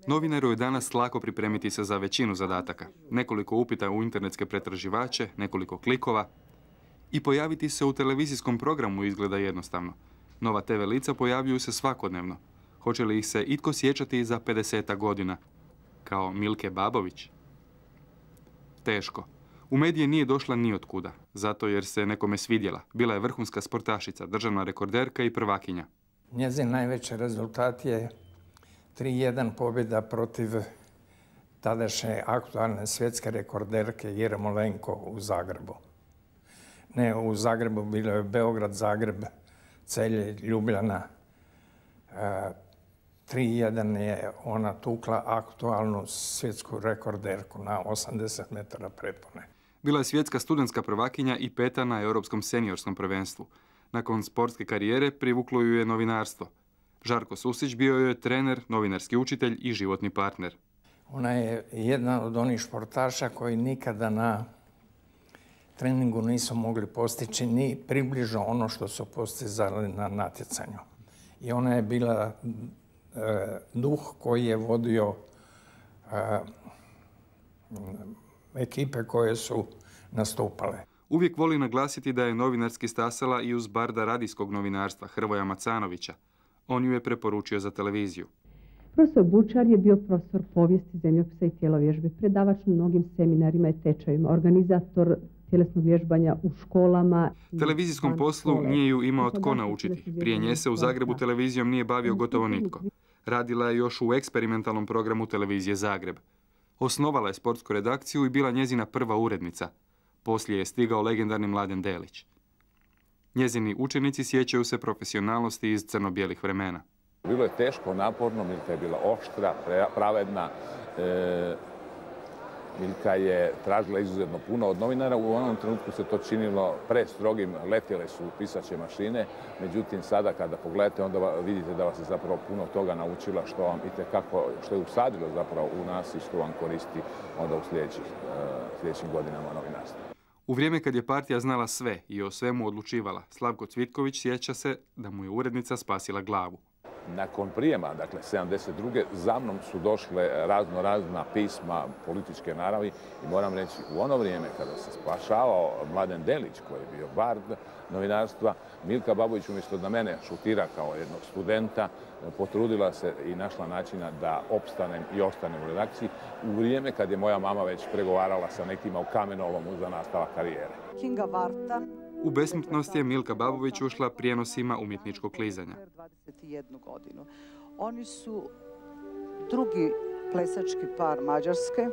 Novinaru je danas lako pripremiti se za većinu zadataka. Nekoliko upita u internetske pretraživače, nekoliko klikova i pojaviti se u televizijskom programu izgleda jednostavno. Nova TV lica pojavljuju se svakodnevno. Hoće li ih se itko sjećati za 50 godina? Kao Milke Babović? Teško. U medije nije došla ni od kuda, zato jer se nekome svidjela. Bila je vrhunska sportašica, državna rekorderka i prvakinja. Njezin najveći rezultat je 3:1 pobjeda protiv tadašnje aktualne svjetske rekorderke Jeremolenko u Zagrebu. Ne, u Zagrebu bilo je Beograd, Zagreb, Celje, Ljubljana. 3:1 je ona tukla aktualnu svjetsku rekorderku na 80 metara prepone. Bila je svjetska studentska prvakinja i peta na Europskom seniorskom prvenstvu. Nakon sportske karijere privuklo ju je novinarstvo. Žarko Susić bio je trener, novinarski učitelj i životni partner. Ona je jedna od onih športaša koji nikada na treningu nisu mogli postići ni približno ono što su postizali na natjecanju. I ona je bila duh koji je vodio ekipe koje su nastupale. Uvijek voli naglasiti da je novinarski stasala i uz barda radijskog novinarstva Hrvoja Macanovića. On ju je preporučio za televiziju. Profesor Bučar je bio profesor povijesti, zemljopisa i tjelovježbe, predavač na mnogim seminarima i tečajima, organizator tjelesnog vježbanja u školama. Televizijskom poslu nije ju imao tko naučiti. Prije nje se u Zagrebu televizijom nije bavio gotovo nitko. Radila je još u eksperimentalnom programu televizije Zagreb. Osnovala je sportsku redakciju i bila njezina prva urednica. Poslije je stigao legendarni Mladen Delić. Njezini učenici sjećaju se profesionalnosti iz crno-bijelih vremena. Bilo je teško, naporno, Milka je bila oštra, pravedna. Milka je tražila izuzetno puno od novinara. U onom trenutku se to činilo prestrogim, letjele su pisaće mašine. Međutim, sada kada pogledate, onda vidite da vas je zapravo puno toga naučila što vam itekako, što je usadilo zapravo u nas i što vam koristi onda u sljedećim godinama novinarstva. U vrijeme kad je partija znala sve i o svemu odlučivala, Slavko Cvitković sjeća se da mu je urednica spasila glavu. Nakon prijema, dakle 72. za mnom su došle razna pisma političke naravi i moram reći u ono vrijeme kada se spašavao Mladen Delić koji je bio bard novinarstva, Milka Babović umjesto da mene šutira kao jednog studenta, potrudila se i našla načina da opstanem i ostanem u redakciji u vrijeme kad je moja mama već pregovarala sa nekima u Kamenolomu za nastavak karijere. Kinga Varta. U besmrtnost je Milka Babović ušla prijenosima umjetničkog klizanja. 21 godinu. Oni su drugi plesački par Mađarske.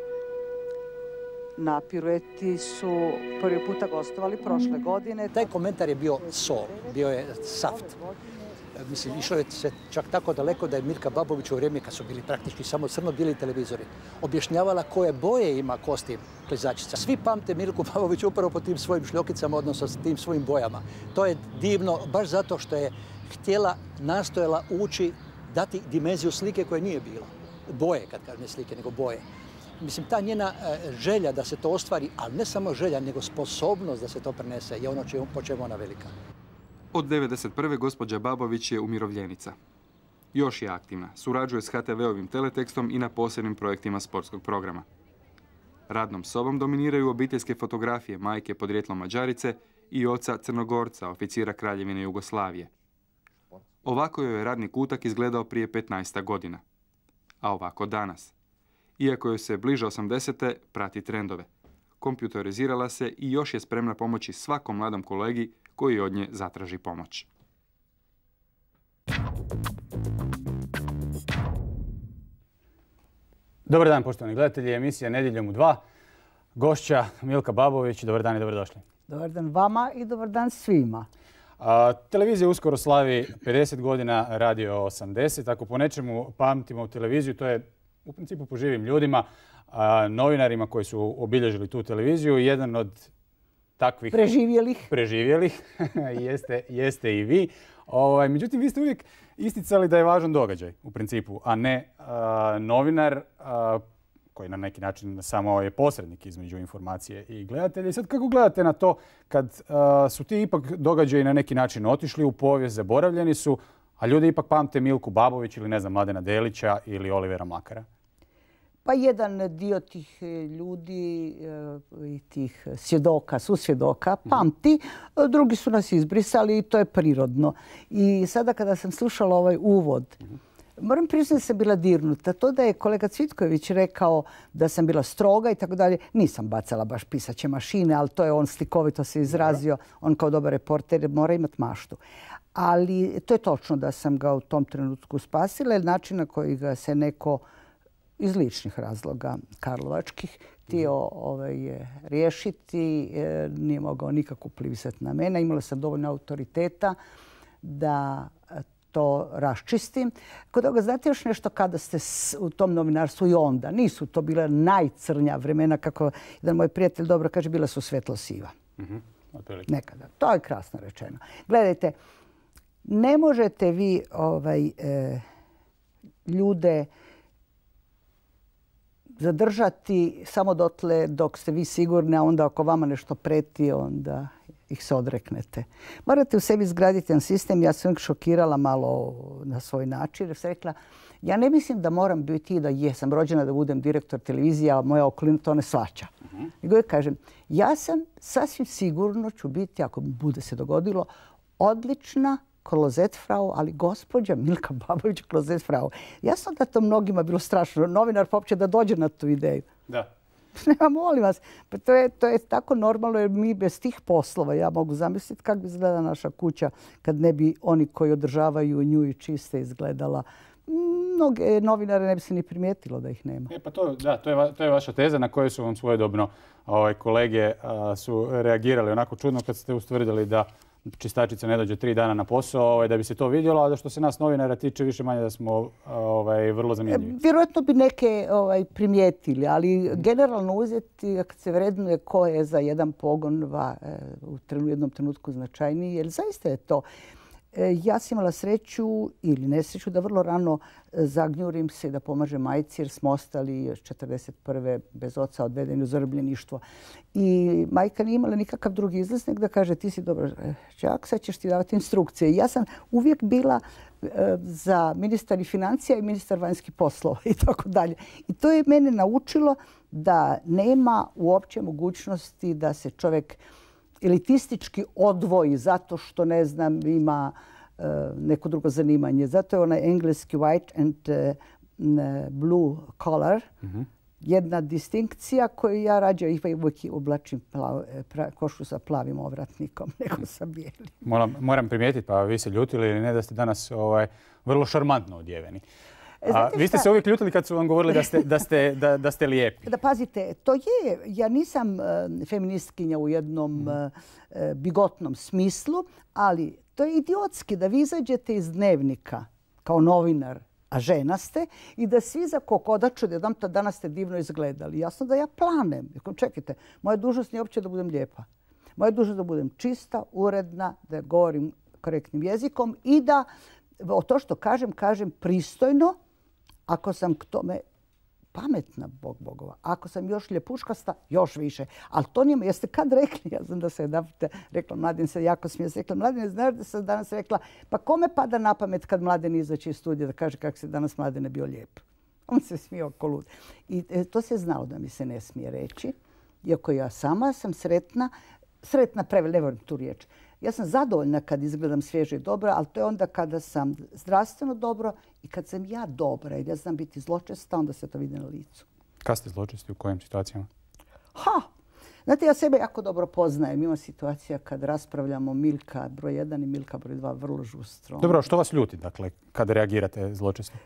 Na pirueti su prvi puta gostovali prošle godine. Taj komentar je bio sol, bio je saft. Mislim, išlo je se čak tako daleko da je Milka Babović u vrijeme kad su bili praktički samo crno-bijeli televizori objašnjavala koje boje ima kostim klizačica. Svi pamte Milku Babović upravo po tim svojim šljokicama, odnosno s tim svojim bojama. To je divno, baš zato što je htjela, nastojala ući, dati dimenziju slike koje nije bilo. Boje, kad kažem ne slike, nego boje. Mislim, ta njena želja da se to ostvari, ali ne samo želja, nego sposobnost da se to prenese je ono po čemu ona velika. Od 1991. gospođa Babović je umirovljenica. Još je aktivna, surađuje s HTV-ovim teletekstom i na posebnim projektima sportskog programa. Radnom sobom dominiraju obiteljske fotografije majke podrijetlom Mađarice i oca Crnogorca, oficira Kraljevine Jugoslavije. Ovako joj je radni kutak izgledao prije 15 godina. A ovako danas. Iako joj se bliže 80. prati trendove. Kompjuterizirala se i još je spremna pomoći svakom mladom kolegi koji od nje zatraži pomoć. Dobar dan, poštovani gledatelji, emisija Nedjeljom u 2. Gošća Milka Babović, dobar dan i dobrodošli. Dobar dan vama i dobar dan svima. Televizija uskoro slavi 50 godina, radio 80. Ako po nečemu pamtimo televiziju, to je u principu po živim ljudima, novinarima koji su obilježili tu televiziju. Jedan od takvih preživjelih. jeste i vi. Međutim, vi ste uvijek isticali da je važan događaj u principu, a ne novinar koji na neki način samo je posrednik između informacije i gledatelja. I sad kako gledate na to kad su ti ipak događaji na neki način otišli u povijest, zaboravljeni su, a ljudi ipak pamte Milku Babović ili ne znam Mladena Delića ili Olivera Mlakara? Pa jedan dio tih ljudi i tih svjedoka, susvjedoka pamti, drugi su nas izbrisali i to je prirodno. I sada kada sam slušala ovaj uvod, moram priznati da sam bila dirnuta. To da je kolega Cvitković rekao da sam bila stroga i tako dalje, nisam bacala baš pisaće mašine, ali to je on slikovito se izrazio. On kao dobar reporter mora imati maštu. Ali to je točno da sam ga u tom trenutku spasila, jer način na koji ga se neko iz ličnih razloga karlovačkih htio riješiti, nije mogao nikako uplivsati na mene. Imala sam dovoljno autoriteta da to raščistim. Kod toga, znate još nešto kada ste u tom novinarstvu i onda? Nisu to bila najcrnja vremena, kako jedan moj prijatelj dobro kaže, bila su svetlo-siva. Nekada. To je krasno rečeno. Gledajte, ne možete vi ljude zadržati samo dotle dok ste vi sigurni, a onda ako vama nešto preti, onda ih se odreknete. Morate u sebi izgraditi jedan sistem. Ja sam šokirala malo na svoj način jer sam rekla, ja ne mislim da moram biti da jesam rođena da budem direktor televizije, a moja okolina to ne shvaća. Nego ja kažem, ja sam sasvim sigurno ću biti, ako bude se dogodilo, odlična klozetfrau, ali gospođa Milka Babović klozetfrau. Jasno da to mnogima bilo strašno. Novinar popće da dođe na tu ideju. Da. Nema, molim vas. Pa to je tako normalno jer mi bez tih poslova, ja mogu zamisliti kako bi izgleda naša kuća kad ne bi oni koji održavaju nju i čiste izgledala. Mnoge novinare ne bi se ni primijetilo da ih nema. Pa to je vaša teza na kojoj su vam svojedobno kolege su reagirali onako čudno kad ste ustvrdili da čistačica ne dođe 3 dana na posao da bi se to vidjelo, a da što se nas novinara tiče više manje da smo vrlo zanimljivi. Vjerojatno bi neke primijetili, ali generalno uzeti kad se vrednuje ko je za jedan pogon u jednom trenutku značajniji, jer zaista je to. Ja sam imala sreću ili nesreću da vrlo rano zagnjurim se i da pomažem majci jer smo ostali još 1941. bez oca odvedeni u zarobljeništvo. I majka nije imala nikakav drugi izlaz nego da kaže ti si dobar đak, sad ćeš ti davati instrukcije. Ja sam uvijek bila za ministar financija i ministar vanjskih poslova i tako dalje. I to je mene naučilo da nema uopće mogućnosti da se čovjek elitistički odvoji zato što, ne znam, ima neko drugo zanimanje. Zato je onaj engleski white and blue collar jedna distinkcija koju ja rađe uvijek oblačim košulju sa plavim ovratnikom nego sa bijelim. Moram primijetiti, pa vi se ljutili ili ne, da ste danas vrlo šarmantno odjeveni. Vi ste se uvijek ljutili kad su vam govorili da ste lijepi. Da pazite, to je, ja nisam feministkinja u jednom bigotnom smislu, ali to je idiotski da vi izađete iz dnevnika kao novinar, a žena ste, i da svi za kokodaču da dam to danas ste divno izgledali. Jasno da ja planem. Čekajte, moja dužnost nije uopće da budem lijepa. Moja je dužnost da budem čista, uredna, da govorim korektnim jezikom i da to što kažem pristojno, ako sam k tome pametna, Bog bogova. Ako sam još ljepuškasta, još više. Ali to nije, jeste kad rekli, ja znam da se jedan rekla, Mladen se jako smije, se rekla, Mladen, znaš da sam danas rekla, pa kome pada na pamet kad Mladen izaći iz studija da kaže kako se danas Mladene bio lijep. On se smije oko lud. I to se znalo da mi se ne smije reći, iako ja sama sam sretna ne volim tu riječ. Ja sam zadovoljna kad izgledam svježe i dobro, ali to je onda kada sam zdravstveno dobro i kad sam ja dobra. Jer ja znam biti zločesta, onda se to vidi na licu. Kad ste zločesti? U kojim situacijama? Znate, ja sebe jako dobro poznajem. Ima situacija kad raspravljamo Milka broj 1 i Milka broj 2 vrlo žustro. Dobro, što vas ljuti, dakle, kad reagirate zločesto?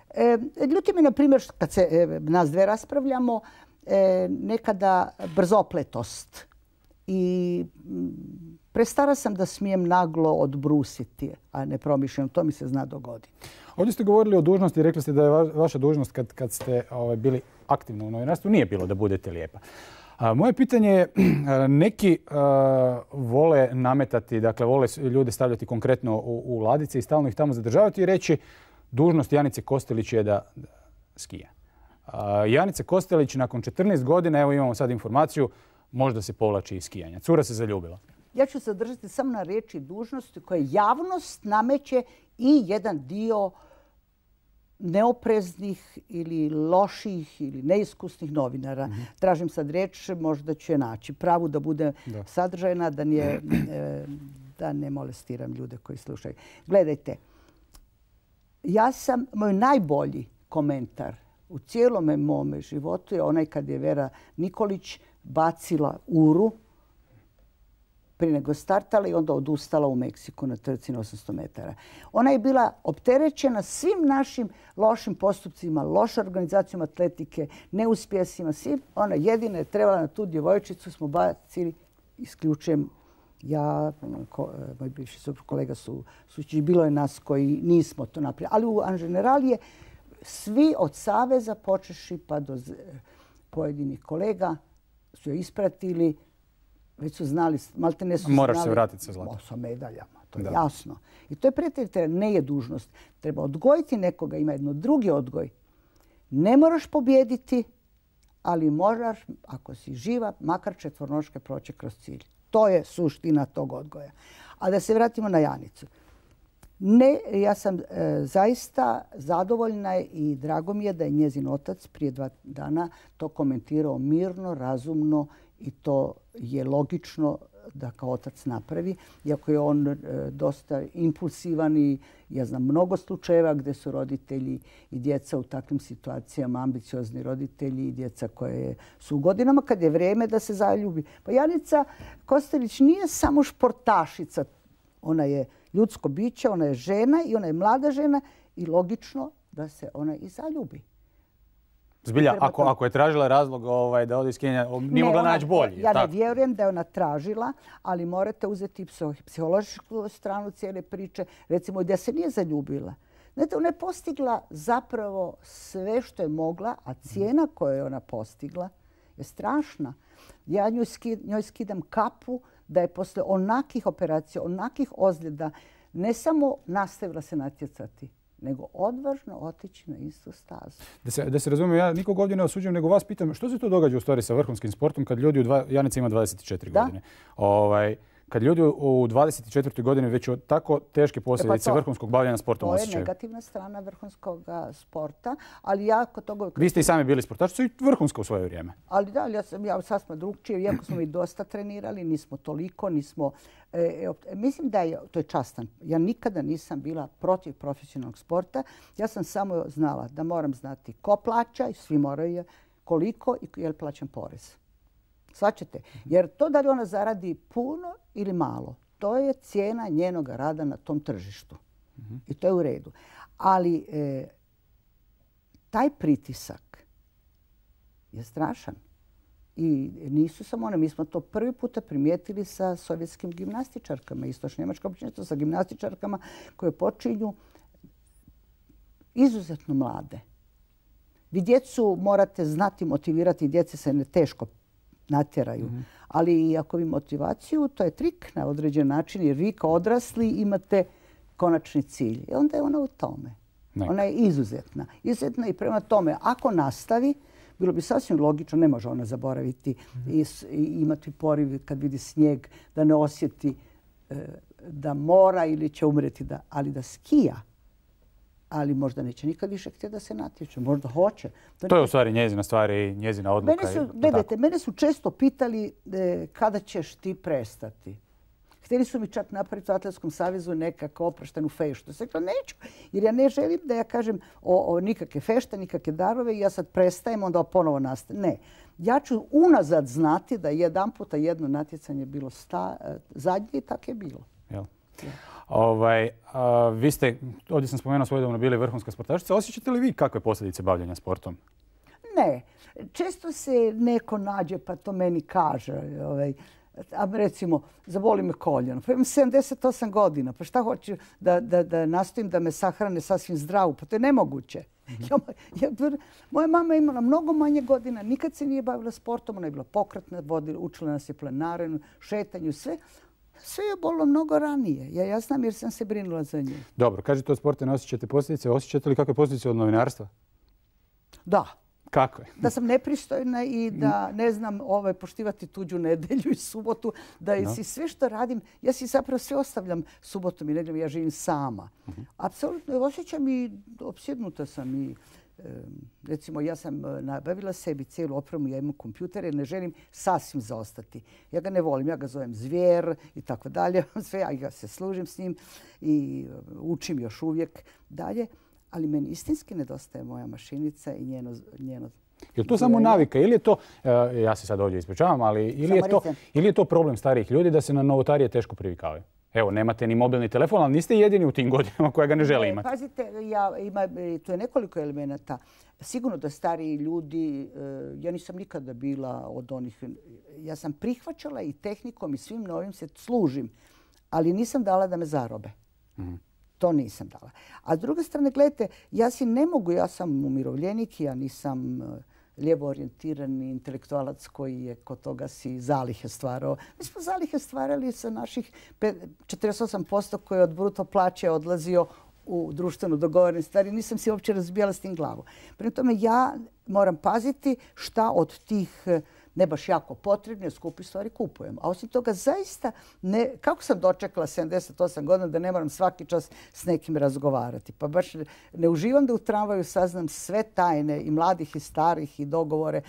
Ljuti mi, na primjer, kad se nas dve raspravljamo, nekada brzopletost. I prestara sam da smijem naglo odbrusiti, a ne promišljam. To mi se zna dogoditi. Ovdje ste govorili o dužnosti i rekli ste da je vaša dužnost kad ste bili aktivni u novinarstvu nije bilo da budete lijepa. Moje pitanje je, neki vole nametati, dakle vole ljude stavljati konkretno u ladice i stalno ih tamo zadržavati i reći dužnost Janice Kostelić je da skija. Janica Kostelić nakon 14 godina, evo imamo sad informaciju, možda se povlači iz skijanja. Cura se zaljubila. Ja ću se zadržati samo na riječi dužnosti koje javnost nameće i jedan dio neopreznih ili loših ili neiskusnih novinara. Tražim sad riječ, možda ću je naći. Pravu da bude sadržajna, da ne molestiram ljude koji slušaju. Gledajte, moj najbolji komentar u cijelome mome životu je onaj kad je Vera Nikolić bacila uru prije nego startala i onda odustala u Meksiku na trci na 800 metara. Ona je bila opterećena svim našim lošim postupcima, lošom organizacijom atletike, neuspjesima, svim. Ona jedina je trebala na tu djevojčicu, smo bacili, isključujem ja, moj bivši suprug kolega Sučić, bilo je nas koji nismo to napravili. Ali u Anženerali je svi od saveza počeši pa do pojedinih kolega su je ispratili, već su znali, maltene su znali. Moraš se vratiti sa zlatom. Sa medaljama, to je jasno. I to je prijatelj, ne je dužnost. Treba odgojiti nekoga, ima jedno drugi odgoj. Ne moraš pobijediti, ali moraš, ako si živa, makar četvornoške proći kroz cilj. To je suština tog odgoja. A da se vratimo na Janicu. Ne, ja sam zaista zadovoljna i drago mi je da je njezin otac prije 2 dana to komentirao mirno, razumno i to je logično da kao otac napravi. Iako je on dosta impulsivan i ja znam mnogo slučajeva gdje su roditelji i djeca u takvim situacijama, ambiciozni roditelji i djeca koje su u godinama kad je vrijeme da se zaljubi. Pa Janica Kostelić nije samo športašica. Ona je ljudsko biće, ona je žena i ona je mlada žena i logično da se ona i zaljubi. Zbilja, ako je tražila razlog da ode iz skijanja, nije mogla naći bolji. Ja ne vjerujem da je ona tražila, ali morate uzeti psihološku stranu cijele priče. Recimo, da se nije zaljubila. Znate, ona je postigla zapravo sve što je mogla, a cijena koju je ona postigla je strašna. Ja njoj skidam kapu da je posle onakih operacija, onakih ozljeda ne samo nastavila se natjecati, nego odvažno otići na istu stazu. Da se razumijem, ja nikog ovdje ne osuđujem, nego vas pitam što se to događa u stvari sa vrhunskim sportom kad ljudi, Janica ima 24 godine. Kad ljudi u 24. godini već od tako teške posljedice vrhunskog bavljanja sportom osjećaju. To je negativna strana vrhunskog sporta, ali ja kod toga... Vi ste i sami bili sportaši, i vrhunsko u svoje vrijeme. Ali da, ja sad smo drugčije, iako smo i dosta trenirali, nismo toliko, nismo... Mislim da je, to je častan. Ja nikada nisam bila protiv profesionalnog sporta. Ja sam samo znala da moram znati ko plaća i svi moraju koliko i je li plaćam porez. Shvaćate? Jer to da li ona zaradi puno ili malo, to je cijena njenog rada na tom tržištu. I to je u redu. Ali taj pritisak je strašan. I nisu samo one. Mi smo to prvi puta primijetili sa sovjetskim gimnastičarkama, istočno-njemačko općenito sa gimnastičarkama koje počinju izuzetno mlade. Vi djecu morate znati motivirati, djece se ne teško natjeraju. Ali ako vi motivaciju, to je trik na određen način jer vi kao odrasli imate konačni cilj. I onda je ona u tome. Ona je izuzetna. Izuzetna i prema tome, ako nastavi, bilo bi sasvim logično, ne može ona zaboraviti i imati poriv kad vidi snijeg, da ne osjeti da mora ili će umreti, ali da skija. Ali možda neće nikad više htjeti da se natječe. Možda hoće. To je u stvari njezina stvar i njezina odluka. Mene su često pitali kada ćeš ti prestati. Htjeli su mi čak napraviti u Atletskom savezu nekako oproštenu feštu. Sam rekla neću, jer ja ne želim da ja kažem o nikakve fešte, nikakve darove i ja sad prestajem, onda ponovo nastavim. Ne. Ja ću unazad znati da jedan puta jedno natjecanje bilo zadnje i tako je bilo. Vi ste, ovdje sam spomenuo svojedobno, bili vrhunska sportašica. Osjećate li vi kakve posljedice bavljanja sportom? Ne. Često se neko nađe pa to meni kaže. A recimo, zaboli me koljeno. Pa imam 78 godina. Pa šta hoću da nastojim da me sahrane sasvim zdravu? Pa to je nemoguće. Moja mama je imala mnogo manje godina, nikad se nije bavila sportom, ona je bila pokretna, učila nas je planarenu, šetanju, sve. Sve je bolilo mnogo ranije. Ja znam jer sam se brinula za nju. Dobro, kažete od sporta ne osjećate posljedice. Osjećate li kakve posljedice od novinarstva? Da. Kako je? Da sam nepristojna i da ne znam poštivati tuđu nedjelju i subotu. Da si sve što radim, ja si zapravo sve ostavljam subotom i nedjeljom. Ja živim sama. Apsolutno osjećam i opsjednuta sam i recimo ja sam nabavila sebi cijelu opremu, ja imam kompjuter jer ne želim sasvim zaostati. Ja ga ne volim, ja ga zovem zvijer i tako dalje. Sve ja ga se služim s njim i učim još uvijek dalje. Ali meni istinski nedostaje moja mašinica i njeno je li to samo navika ili je to, ja se sad ovdje ispričavam, ali ili je to problem starijih ljudi da se na novotarije teško privikavaju? Evo, nemate ni mobilni telefon, ali niste jedini u tim godinama koja ga ne žele imati. Pazite, tu je nekoliko elemenata. Sigurno da stariji ljudi, ja nisam nikada bila od onih, ja sam prihvaćala i tehnikom i svim novim se služim, ali nisam dala da me zarobe. To nisam dala. A s druge strane, gledajte, ja si ne mogu, ja sam umirovljenik, ja nisam lijevo orijentirani intelektualac koji je kod toga si zalihe stvarao. Mi smo zalihe stvarali sa naših 48% koji je od bruto plaće odlazio u društveno dogovorene stvari. Nisam si uopće razbijala s tim glavu. Prema tome ja moram paziti šta od tih ne baš jako potrebne, skupi stvari kupujem. A osim toga zaista, kako sam dočekala 78 godina da ne moram svaki čas s nekim razgovarati. Pa baš ne uživam da u tramvaju saznam sve tajne i mladih i starih i dogovore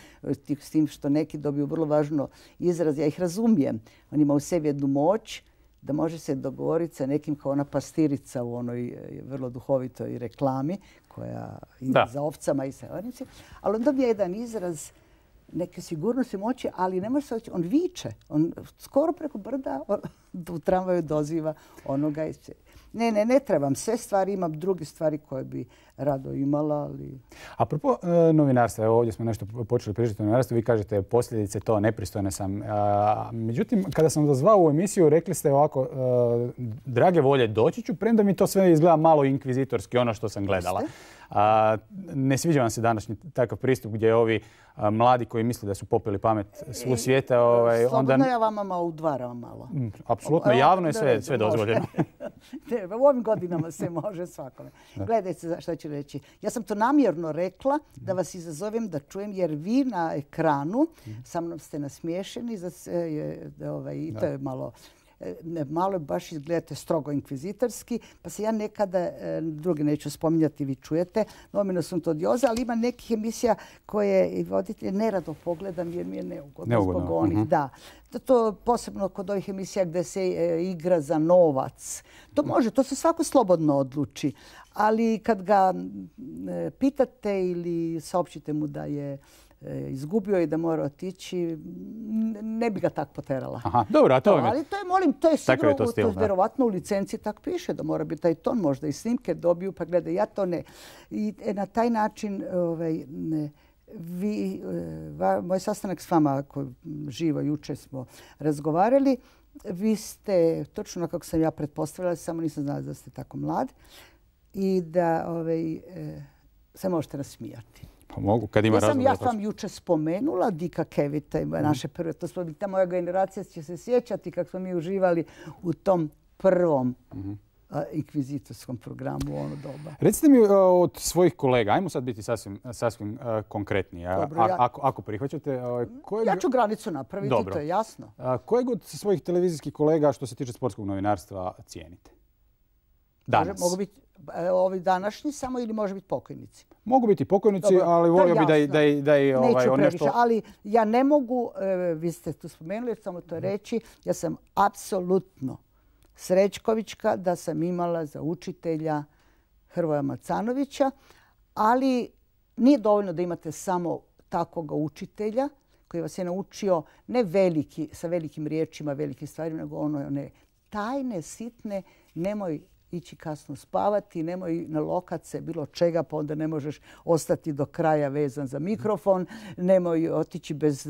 s tim što neki dobiju vrlo važno izraz. Ja ih razumijem. On ima u sebi jednu moć da može se dogovoriti sa nekim kao ona pastirica u onoj vrlo duhovitoj reklami koja ide za ovcama i sa ornicima. Ali on dobije jedan izraz neke sigurnosti moći, ali ne može se oći. On viče. On skoro preko brda u tramvaju doziva onoga. Ne trebam sve stvari, imam druge stvari koje bi rado imala. Ali... Apropo novinarstva, evo ovdje smo nešto počeli pričati o novinarstvu, vi kažete posljedice to, nepristojne sam. Međutim, kada sam vas zvao u emisiju, rekli ste ovako, drage volje doći ću, premda mi to sve izgleda malo inkvizitorski, ono što sam gledala. Ne sviđa vam se današnji takav pristup gdje ovi mladi koji misle da su popili pamet svu svijeta... Slobodno ja vama malo udvaram malo. Apsolutno, javno je sve dozvoljeno. U ovim godinama se može svakome. Gledajte šta ću reći. Ja sam to namjerno rekla da vas izazovem da čujem jer vi na ekranu sa mnom ste nasmiješeni i to je malo baš izgledate strogo inkvizitorski, pa se ja nekada, drugi neću spominjati, vi čujete, nomino sam to odioza, ali ima nekih emisija koje voditelj nerado pogledam jer mi je neugodno zbog onih. Da. To posebno kod ovih emisija gdje se igra za novac. To može, to se svako slobodno odluči. Ali kad ga pitate ili saopćite mu da je izgubio i da mora otići, ne bi ga tako poterala. Dobro, a to ali to je sigurno, to je vjerovatno u licenciji tako piše da mora biti taj ton, možda i snimke dobiju, pa gledaj, ja to ne. I na taj način moj sastanak s vama, koji živo jučer smo razgovarali, vi ste, točno kako sam ja pretpostavila, samo nisam znala da ste tako mlad i da se možete nasmijati. Pa mogu, kad ima razloga. Ja sam vam jučer spomenula Dika Kevita, naše prve, ta moja generacija će se sjećati kako smo mi uživali u tom prvom inkvizitorskom programu u ono doba. Recite mi od svojih kolega, ajmo sad biti sasvim konkretni. Ako prihvaćate... Ja ću granicu napraviti, to je jasno. Kojeg od svojih televizijskih kolega što se tiče sportskog novinarstva cijenite? Danas. Mogu biti ovi današnji samo ili može biti pokojnici? Mogu biti pokojnici, ali volio bi da i neću previše, ali ja ne mogu, vi ste tu spomenuli, samo to reći, ja sam apsolutno srećkovićka da sam imala za učitelja Hrvoja Macanovića, ali nije dovoljno da imate samo takvog učitelja koji vas je naučio ne sa velikim riječima, velikim stvarima, nego one tajne, sitne, nemoj ići kasno spavati, nemoj nalokat se bilo čega, pa onda ne možeš ostati do kraja vezan za mikrofon, nemoj otići bez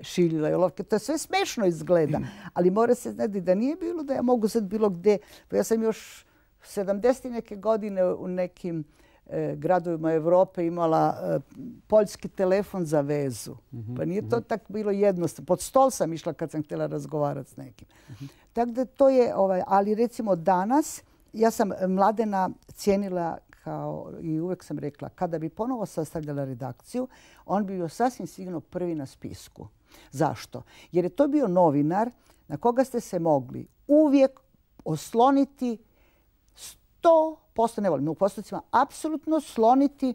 šiljila i olovke. To sve smešno izgleda, ali mora se znati da nije bilo da ja mogu sad bilo gdje. Ja sam još 70 neke godine u nekim gradovima Europe imala poljski telefon za vezu. Pa nije to tako bilo jednostavno. Pod stol sam išla kad sam htjela razgovarati s nekim. Tako da to je, ali recimo danas, ja sam Mladena cijenila kao, i uvijek sam rekla, kada bi ponovo sastavljala redakciju, on bi bio sasvim sigurno prvi na spisku. Zašto? Jer je to bio novinar na koga ste se mogli uvijek osloniti 100%, ne volim u postocima, apsolutno sloniti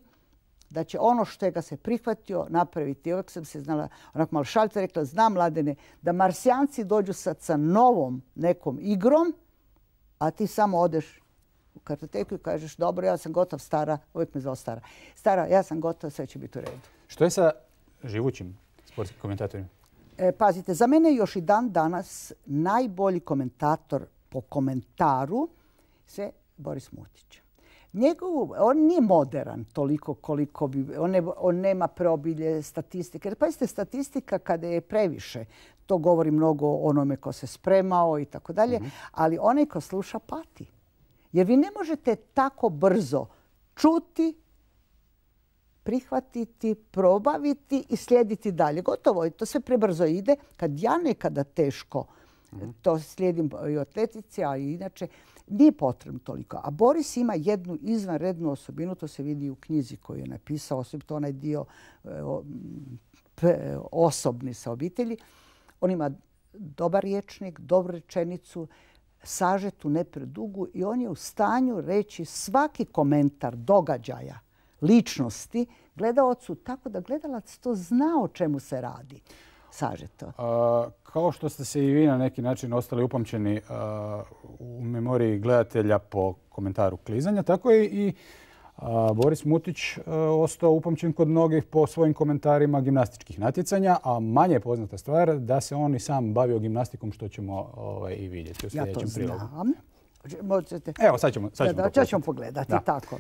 da će ono što je ga se prihvatio napraviti. Uvijek sam se znala, onako malo šalite, rekla, znam Mladene, da Marsijanci dođu sad sa novom nekom igrom, a ti samo odeš u kartoteku i kažeš, dobro, ja sam gotov, stara, uvijek me zvao stara. Stara, ja sam gotov, sve će biti u redu. Što je sa živućim sportskim komentatorima? Pazite, za mene je još i dan danas najbolji komentator po komentaru sve Boris Mutić. On nije moderan toliko koliko bi, on nema preobilje statistike. Pazite, statistika kada je previše, to govori mnogo o onome ko se spremao i tako dalje, ali onaj ko sluša pati. Jer vi ne možete tako brzo čuti, prihvatiti, probaviti i slijediti dalje. Gotovo, to sve prebrzo ide. Kad ja nekada teško to slijedim i u atletici, a i inače, nije potrebno toliko. A Boris ima jednu izvanrednu osobinu, to se vidi u knjizi koju je napisao, osobito onaj dio osobni sa obitelji. On ima dobar rječnik, dobru rečenicu, sažetu, ne predugu i on je u stanju reći svaki komentar događaja, ličnosti gledalacu tako da gledalac to zna o čemu se radi. Sažeto. Kao što ste se i vi na neki način ostali upamćeni u memoriji gledatelja po komentaru klizanja, tako je i Boris Mutić ostao upamćen kod mnogih po svojim komentarima gimnastičkih natjecanja, a manje je poznata stvar da se on i sam bavio gimnastikom, što ćemo i vidjeti u sljedećem prilogu. Ja to znam. Možete... Evo, sad ćemo pogledati. Da. Tako.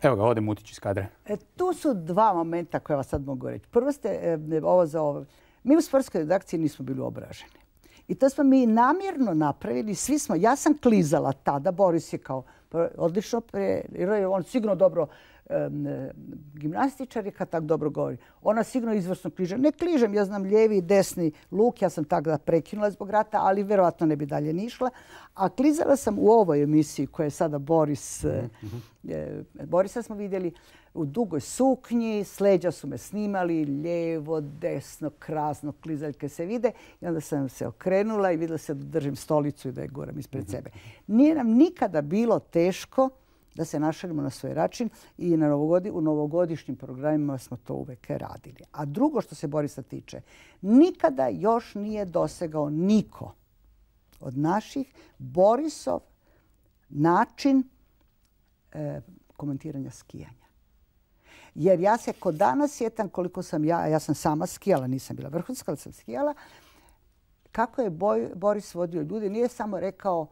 Evo ga, ode Mutić iz kadra. Tu su dva momenta koje vas sad mogu reći. Prvo ste ovo za ovo. Mi u sportskoj redakciji nismo bili obraženi. I to smo mi namjerno napravili. Svi smo, ja sam klizala tada, Boris je kao odlično, on sigurno dobro gimnastičar je kad tako dobro govori. Ona sigurno izvrsno kliže. Ne kližem, ja znam lijevi i desni luk, ja sam tako da prekinula zbog rata, ali vjerovatno ne bi dalje ni išla. A klizala sam u ovoj emisiji koja je sada Boris. Borisa smo vidjeli u dugoj suknji, s leđa su me snimali, lijevo, desno, krasno, klizaljke se vide. I onda sam se okrenula i vidjela se da držim stolicu i da je guram ispred sebe. Nije nam nikada bilo teško da se našalimo na svoj račun i u novogodišnjim programima smo to uvijek radili. A drugo što se Borisa tiče, nikada još nije dosegao niko od naših Borisov način komentiranja skijanja. Jer ja se kod danas sjetam koliko sam ja sam sama skijala, nisam bila vrhunska, ali sam skijala, kako je Boris vodio ljude. Nije samo rekao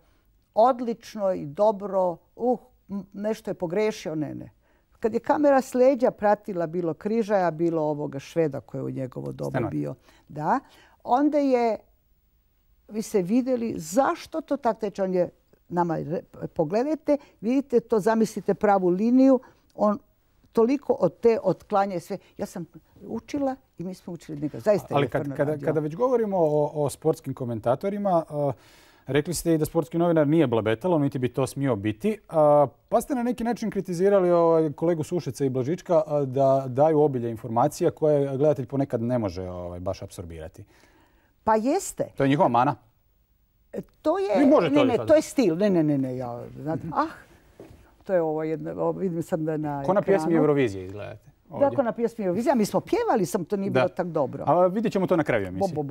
odlično i dobro, nešto je pogrešio, ne. Kad je kamera s leđa pratila bilo Križaja, bilo ovoga Šveda koji je u njegovo doba bio, da, onda je, vi ste vidjeli zašto to tako teče. On je nama, pogledajte, vidite to, zamislite pravu liniju, on toliko od te otklanja sve. Ja sam učila i mi smo učili njega. Zaista ali kada već govorimo o sportskim komentatorima, rekli ste i da sportski novinar nije blabetalo, niti bi to smio biti. Pa ste na neki način kritizirali kolegu Sušeca i Blažička da daju obilje informacija koje gledatelj ponekad ne može baš apsorbirati. Pa jeste. To je njihova mana? To je, to je stil. Ne. Ja, znate, to je ovo jedno, vidim sad na ekranu. Ko na pjesmi Eurovizije izgledate? Da, ko na pjesmi Eurovizije. Mi smo pjevali, sam to nije bilo tako dobro. A vidjet ćemo to na kraju emisije.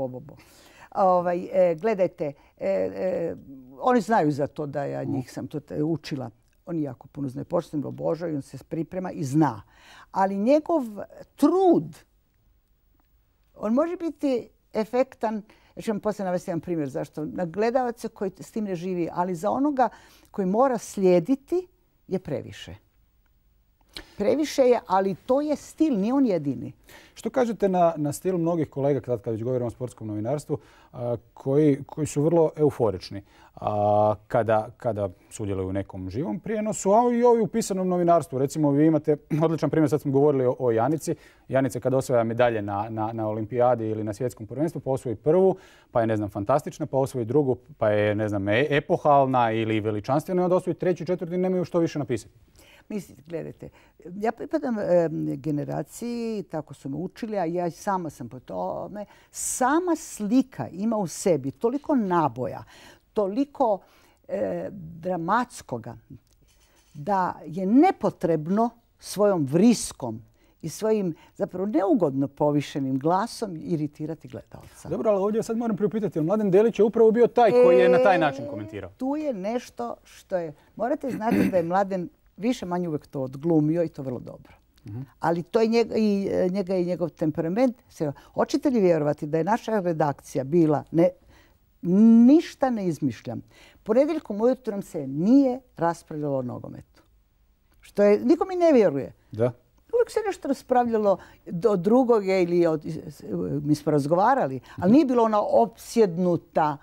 Gledajte, oni znaju za to da ja njih sam to učila. on jako puno zna. Pošto ga obožava i on se priprema i zna. Ali njegov trud, on može biti efektan. Ja ću vam poslije navesti jedan primjer zašto. Na gledavaca koji s tim ne živi, ali za onoga koji mora slijediti je previše. Previše je, ali to je stil, nije on jedini. Što kažete na stil mnogih kolega, kad već govorimo o sportskom novinarstvu, koji su vrlo euforični kada sudjeluju u nekom živom prijenosu, a i ovi u pisanom novinarstvu. Recimo, vi imate odličan primjer, sad smo govorili o Janici. Janica kada osvaja medalje na olimpijadi ili na svjetskom prvenstvu, pa osvoji prvu, pa je, ne znam, fantastična, pa osvoji drugu, pa je, ne znam, epohalna ili veličanstvena, onda osvoji treću, četvrtu i nemaju što više napisati. Mislite, gledajte, ja pripadam generaciji, tako su me učili, a ja sama sam po tome. Sama slika ima u sebi toliko naboja, toliko dramatskoga, da je nepotrebno svojom vriskom i svojim zapravo neugodno povišenim glasom iritirati gledalca. Dobro, ali ovdje sad moram priupitati, jer Mladen Delić je upravo bio taj koji je na taj način komentirao. Tu je nešto što je... Morate znati da je Mladen više manje uvijek to odglumio i to vrlo dobro. Ali to je njega i njegov temperament. Hoćete li vjerovati da je naša redakcija bila, ništa ne izmišljam, ponedjeljkom ujutro nam se nije raspravljalo o nogometu. Što je, niko mi ne vjeruje. Da. Uvijek se nešto raspravljalo od drugog ili mi smo razgovarali, ali nije bilo ona opsjednuta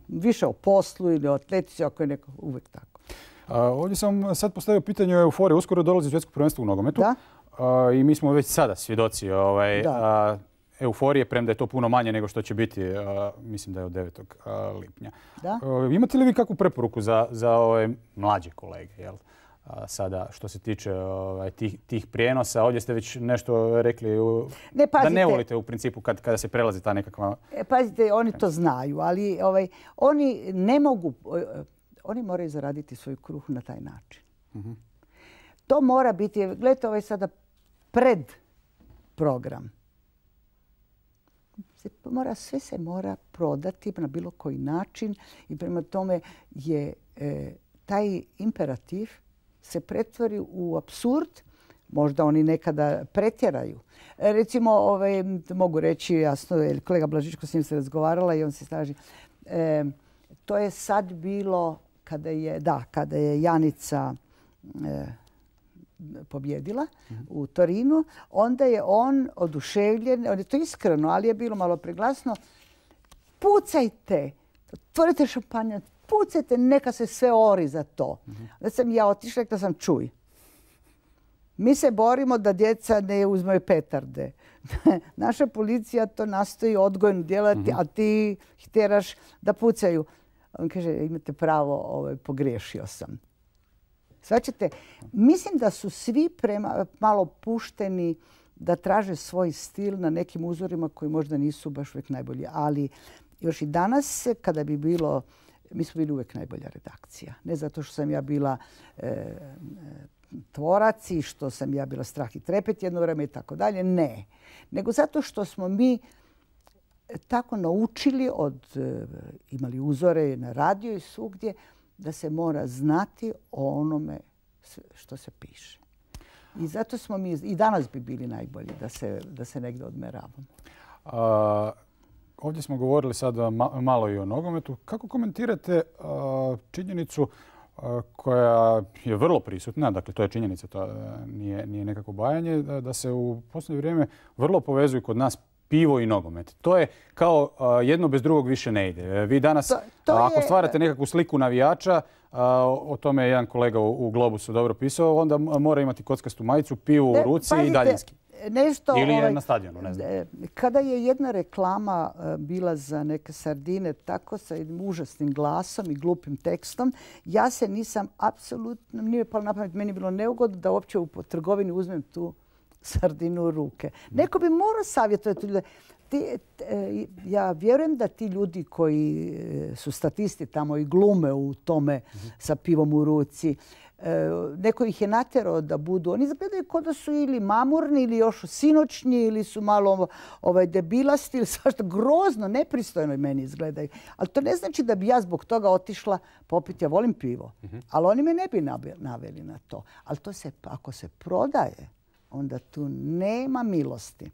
više o poslu ili o atletici, ako je neko uvijek tako. Ovdje sam sad postavio pitanje o euforiji. Uskoro dolazi svjetsko prvenstvo u nogometu. Da. I mi smo već sada svjedoci euforije, premda je to puno manje nego što će biti, mislim da je od 9. lipnja. Da. Imate li vi kakvu preporuku za ove mlađe kolege? Jel? Sada, što se tiče tih prijenosa, ovdje ste već nešto rekli da ne volite u principu kada se prelazi ta nekakva... Pazite, oni to znaju, ali oni ne mogu... Oni moraju zaraditi svoj kruh na taj način. To mora biti, gledajte, ovaj sada pred program. Sve se mora prodati na bilo koji način i prema tome je taj imperativ se pretvori u apsurd. Možda oni nekada pretjeraju. Recimo, mogu reći jasno, kolega Blažičko s njim se razgovarala i on se slaži. To je sad bilo kada je Janica pobjedila u Torinu, onda je on oduševljen, on je to iskreno, ali je bilo malo preglasno. Pucajte, otvorite šampanjac, pucajte, neka se sve ori za to. Da sam ja otišla, rekla sam čuj. Mi se borimo da djeca ne uzmaju petarde. Naša policija to nastoji odgojno djelati, a ti ih tjeraš da pucaju. On kaže, imate pravo, pogriješio sam. Svačate, mislim da su svi malo pušteni da traže svoj stil na nekim uzorima koji možda nisu baš uvijek najbolji. Ali još i danas, kada bi bilo, mi smo bili uvijek najbolja redakcija. Ne zato što sam ja bila tvorac i što sam ja bila strah i trepet jedno vrijeme i tako dalje. Ne. Nego zato što smo mi tako naučili, imali uzore na radiju i svugdje, da se mora znati o onome što se piše. I zato smo mi i danas bi bili najbolji da se negdje odmeravamo. Ovdje smo govorili sad malo i o nogometu. Kako komentirate činjenicu koja je vrlo prisutna, dakle to je činjenica, to nije nekako bajanje, da se u posljednje vrijeme vrlo povezuju kod nas pivo i nogomet. To je kao jedno bez drugog više ne ide. Vi danas, ako stvarate nekakvu sliku navijača, o tome je jedan kolega u Globusu dobro pisao, onda mora imati kockastu majicu, pivo u ruci i daljinski. Ili je na stadionu, ne znam. Kada je jedna reklama bila za neke sardine tako sa jednim užasnim glasom i glupim tekstom, ja se nisam apsolutno, nije palo na pamet, meni je bilo neugodno da uopće u trgovini uzmem tu sardinu u ruke. Neko bi morao savjetovati ljude. Ja vjerujem da ti ljudi koji su statisti tamo i glume u tome sa pivom u ruci, neko ih je natjerao da budu. Oni izgledaju kao da su ili mamurni ili još sinoćnji ili su malo debilasti ili svašta. Grozno, nepristojno meni izgledaju. Ali to ne znači da bi ja zbog toga otišla popiti. Ja volim pivo. Ali oni me ne bi naveli na to. Ali to ako se prodaje, onda tu nema milosti.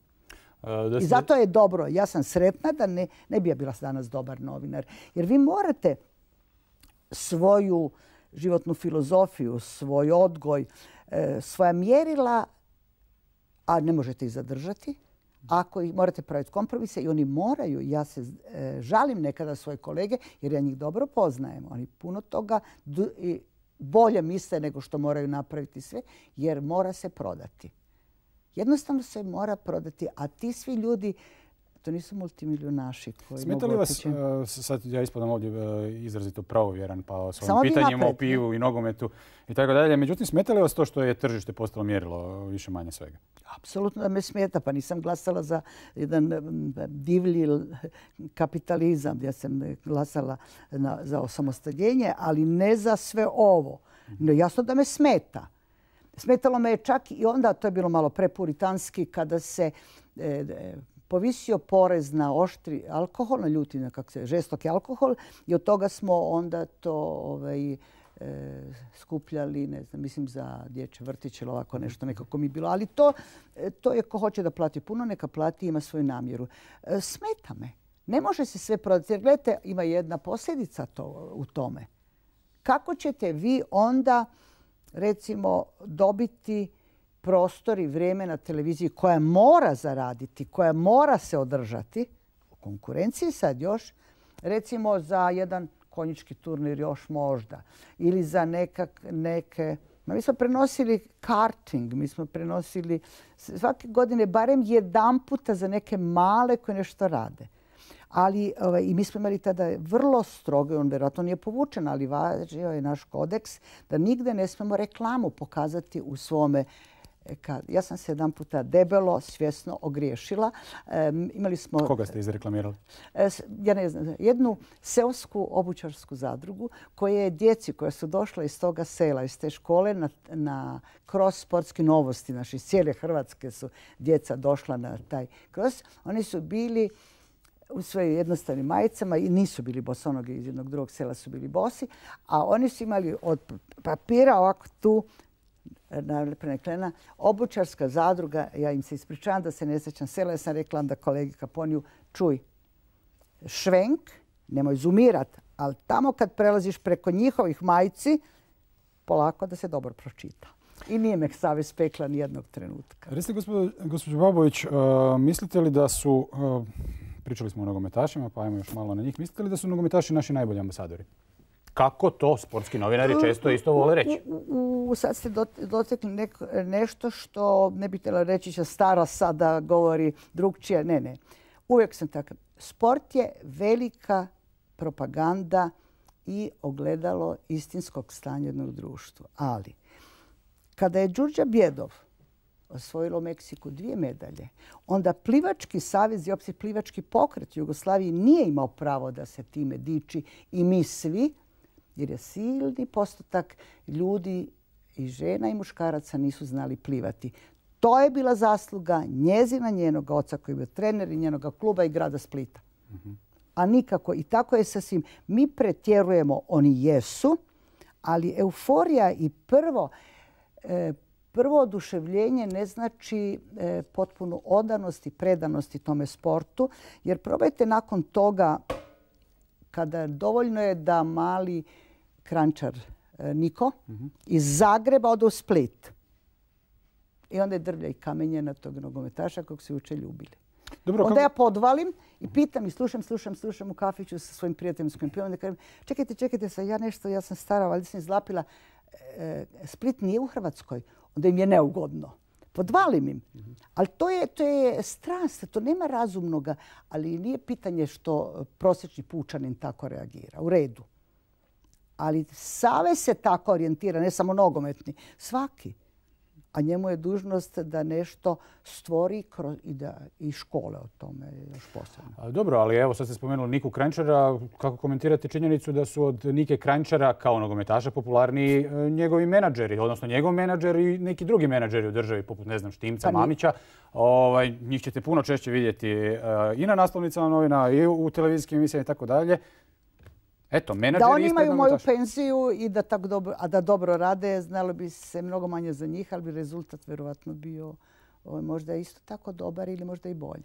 I zato je dobro. Ja sam sretna da ne bi ja bila danas dobar novinar. Jer vi morate svoju životnu filozofiju, svoj odgoj, svoja mjerila, a ne možete ih zadržati. Ako ih morate praviti kompromise i oni moraju, ja se žalim nekada svoje kolege jer ja njih dobro poznajem. Oni puno toga bolje misle nego što moraju napraviti sve jer mora se prodati. Jednostavno se mora prodati, a ti svi ljudi, to nisu multimilionaši koji smeta li vas, sad ja ispadam ovdje izrazito pravovjeran pa o svojim pitanjima o pivu i nogometu i tako dalje, međutim smeta li vas to što je tržište postalo mjerilo više manje svega? Apsolutno da me smeta, pa nisam glasala za jedan divlji kapitalizam. Ja sam glasala za osamostaljenje, ali ne za sve ovo. No, jasno da me smeta. Smetalo me je čak i onda, to je bilo malo prepuritanski, kada se povisio porez na oštri alkohol, na ljuti, žestoki alkohol i od toga smo onda to skupljali, ne znam, mislim za dječje vrtiće ili ovako nešto, nekako mi je bilo. Ali to je ko hoće da plati puno, neka plati, ima svoju namjeru. Smeta me. Ne može se sve prodati. Jer gledajte, ima jedna posljedica u tome. Kako ćete vi onda, recimo, dobiti prostor i vrijeme na televiziji koja mora zaraditi, koja mora se održati, u konkurenciji sad još, recimo za jedan konjički turnir još možda, ili za neke... Mi smo prenosili karting, mi smo prenosili svake godine barem jedan puta za neke male koje nešto rade. Ali i mi smo imali tada vrlo strogo, on vjerojatno nije povučen, ali važio je naš kodeks da nigde ne smemo reklamu pokazati u svome. Ja sam se jedan puta debelo, svjesno ogriješila. Imali smo... Koga ste izreklamirali? Ja ne znam. Jednu seosku obućarsku zadrugu koja je djeci koja su došla iz toga sela, iz te škole kroz sportske novosti. Naši iz cijele Hrvatske su djeca došla na taj kroz. Oni su bili u svojim jednostavnim majicama i nisu bili bosonogi, iz jednog drugog sela su bili bosi. A oni su imali od papira ovako tu preneklena obućarska zadruga. Ja im se ispričavam da se ne sjećam sela. Ja sam rekla onda kolegi Kaponiju, čuj, švenk, nemoj zoomirat, ali tamo kad prelaziš preko njihovih majici, polako da se dobro pročita. I nije me savjest pekla ni jednog trenutka. Recite, gospođo Babović, mislite li da su, pričali smo o nogometašima, pa ajmo još malo na njih, mislite li da su nogometaši naši najbolji ambasadori? Kako to sportski novinari često isto vole reći? Sad ste dotekli nešto što ne bi htjela reći će stara sada govori drugčije. Ne. Uvijek sam takav. Sport je velika propaganda i ogledalo istinskog stanja jednog društva. Ali kada je Đurđa Bjedov osvojila u Meksiku 2 medalje, onda Plivački savez i opće plivački pokret u Jugoslaviji nije imao pravo da se time diči i mi svi, jer je silni postotak ljudi i žena i muškaraca nisu znali plivati. To je bila zasluga njezina, njenog oca koji je bio trener i njenog kluba i grada Splita. A nikako. I tako je sa svim. Mi pretjerujemo, oni jesu, ali euforija i prvo oduševljenje ne znači potpunu odanost i predanost tome sportu. Jer probajte nakon toga, kada dovoljno je da mali krančar Niko iz Zagreba ode u Split. I onda je drvlja i kamenje na tog nogometaša kog se juče ljubili. Dobro, onda ja podvalim i pitam i slušam u kafiću sa svojim prijateljima s kojim pivam. Kažem, čekajte se, ja sam stara, valjda sam izlapila. Split nije u Hrvatskoj. Onda im je neugodno. Podvalim im. Ali to je strast, to nema razumnoga. Ali nije pitanje što prosječni pučanin tako reagira. U redu. Ali savez se tako orijentira, ne samo nogometni. Svaki. a njemu je dužnost da nešto stvori i škole o tome još posebno. Dobro, ali evo sad ste spomenuli Niku Kranjčara. Kako komentirate činjenicu da su od Nike Kranjčara kao nogometaša popularniji njegovi menadžeri, odnosno njegov menadžer i neki drugi menadžeri u državi, poput, ne znam, Štimca, Mamića. Njih ćete puno češće vidjeti i na naslovnicama novina, i u televizijskim emisijama i tako dalje. Eto, menadžeri da oni imaju moju penziju i da da dobro rade, znalo bi se mnogo manje za njih, ali bi rezultat vjerovatno bio možda isto tako dobar ili možda i bolji.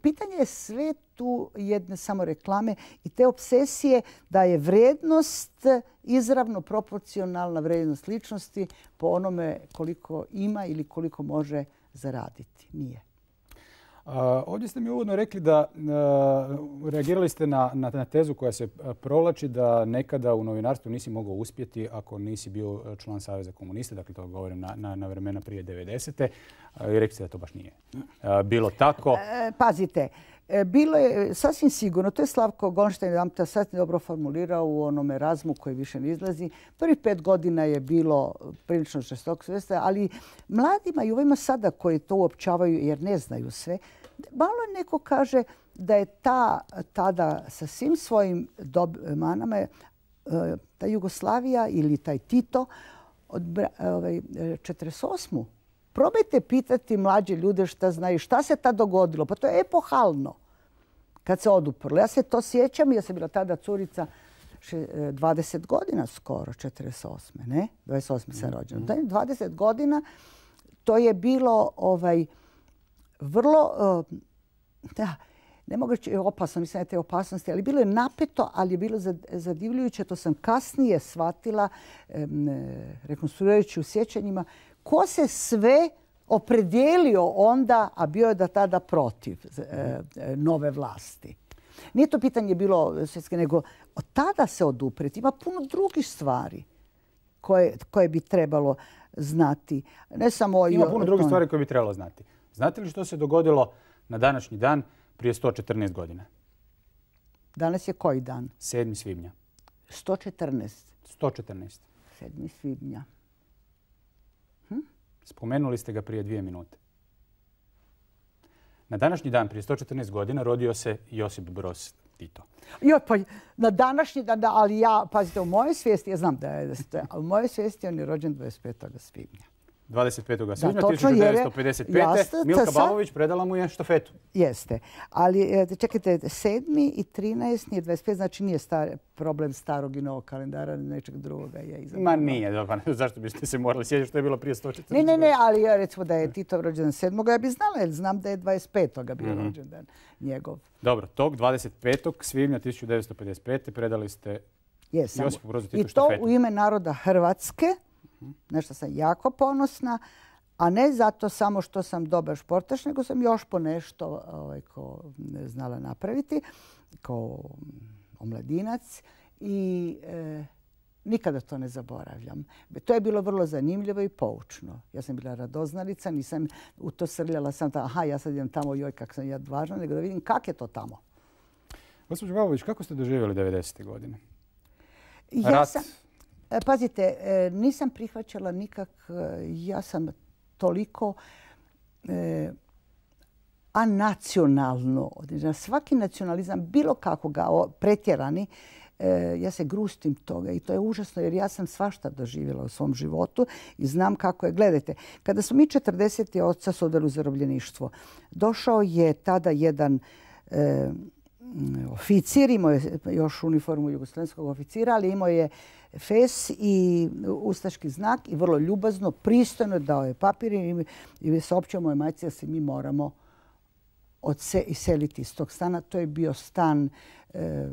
Pitanje je sve tu jedne samo reklame i te obsesije da je vrednost izravno proporcionalna vrednost ličnosti po onome koliko ima ili koliko može zaraditi. Nije. Ovdje ste mi uvodno rekli da reagirali ste na tezu koja se provlači da nekada u novinarstvu nisi mogao uspjeti ako nisi bio član Saveza komunista. Dakle, to govorim na vremena prije 90. I rekli ste da to baš nije bilo tako. Pazite, bilo je sasvim sigurno, to je Slavko Gonštajn jedan sasvim dobro formulirao u onom Erazmu koji više ne izlazi. Prvih 5 godina je bilo prilično žestoko sve, ali mladima i ovima sada koji to uopćavaju jer ne znaju sve, malo neko kaže da je tada sa svim svojim manama ta Jugoslavija ili taj Tito od 48. Probajte pitati mlađe ljude šta znaju, šta se tad dogodilo. Pa to je epohalno kad se oduprlo. Ja se to sjećam, ja sam bila tada curica 20 godina skoro, 48. Ne? 28. sam rođena. 20 godina to je bilo vrlo, ne mogu reći opasno, nisam te opasnosti, ali bilo je napeto, ali je bilo zadivljujuće. To sam kasnije shvatila, rekonstruirajući u sjećanjima, ko se sve opredijelio onda, a bio je da tada protiv nove vlasti. Nije to pitanje bilo svjetske, nego od tada se odupreti. Ima puno drugih stvari koje bi trebalo znati. Ne samo Ima puno drugih stvari koje bi trebalo znati. Znate li što se dogodilo na današnji dan prije 114 godina? Danas je koji dan? 7. svibnja. 114. 114. 7. svibnja. Spomenuli ste ga prije 2 minute. Na današnji dan, prije 114 godina, rodio se Josip Broz Tito. Pa na današnji dan, ali ja, pazite, u mojoj svijesti, ja znam da je, u mojoj svijesti on je rođen 25. svibnja. 25. svibnja 1955. Milka Babović predala mu je štafetu. Jeste. Ali čekajte, 7. i 13. je 25. Znači nije problem starog i novog kalendara, nečeg drugoga je izabrano. Ma nije. Zašto biste se morali sjećati što je bilo prije 114? Ne, ali ja recimo da je Tito rođen 7. ja bi znala, jer znam da je 25. bio rođendan njegov. Dobro, tog 25. svibnja 1955. predali ste Josipu Brozu Titu štafetu. I to u ime naroda Hrvatske. Nešto sam jako ponosna, a ne zato samo što sam dobar športaš, nego sam još po nešto znala napraviti kao omladinac i nikada to ne zaboravljam. To je bilo vrlo zanimljivo i poučno. Ja sam bila radoznalica, nisam u to srljala sam ja sad idem tamo, joj kak sam ja važna, nego da vidim kak je to tamo. Gospođo Babović, kako ste doživjeli 90. godine? Pazite, nisam prihvaćala ja sam toliko anacionalno, svaki nacionalizam, bilo kakvoga pretjerani, ja se grustim toga i to je užasno jer ja sam svašta doživjela u svom životu i znam kako je. Gledajte, kada smo mi 40. oca su odveli u zarobljeništvo, došao je tada jedan oficir, imao je još uniformu jugoslavenskog oficira, ali imao je fes i ustaški znak i vrlo ljubazno, pristojno dao je papir i saopćio moje majci da se mi moramo iseliti iz tog stana. To je bio stan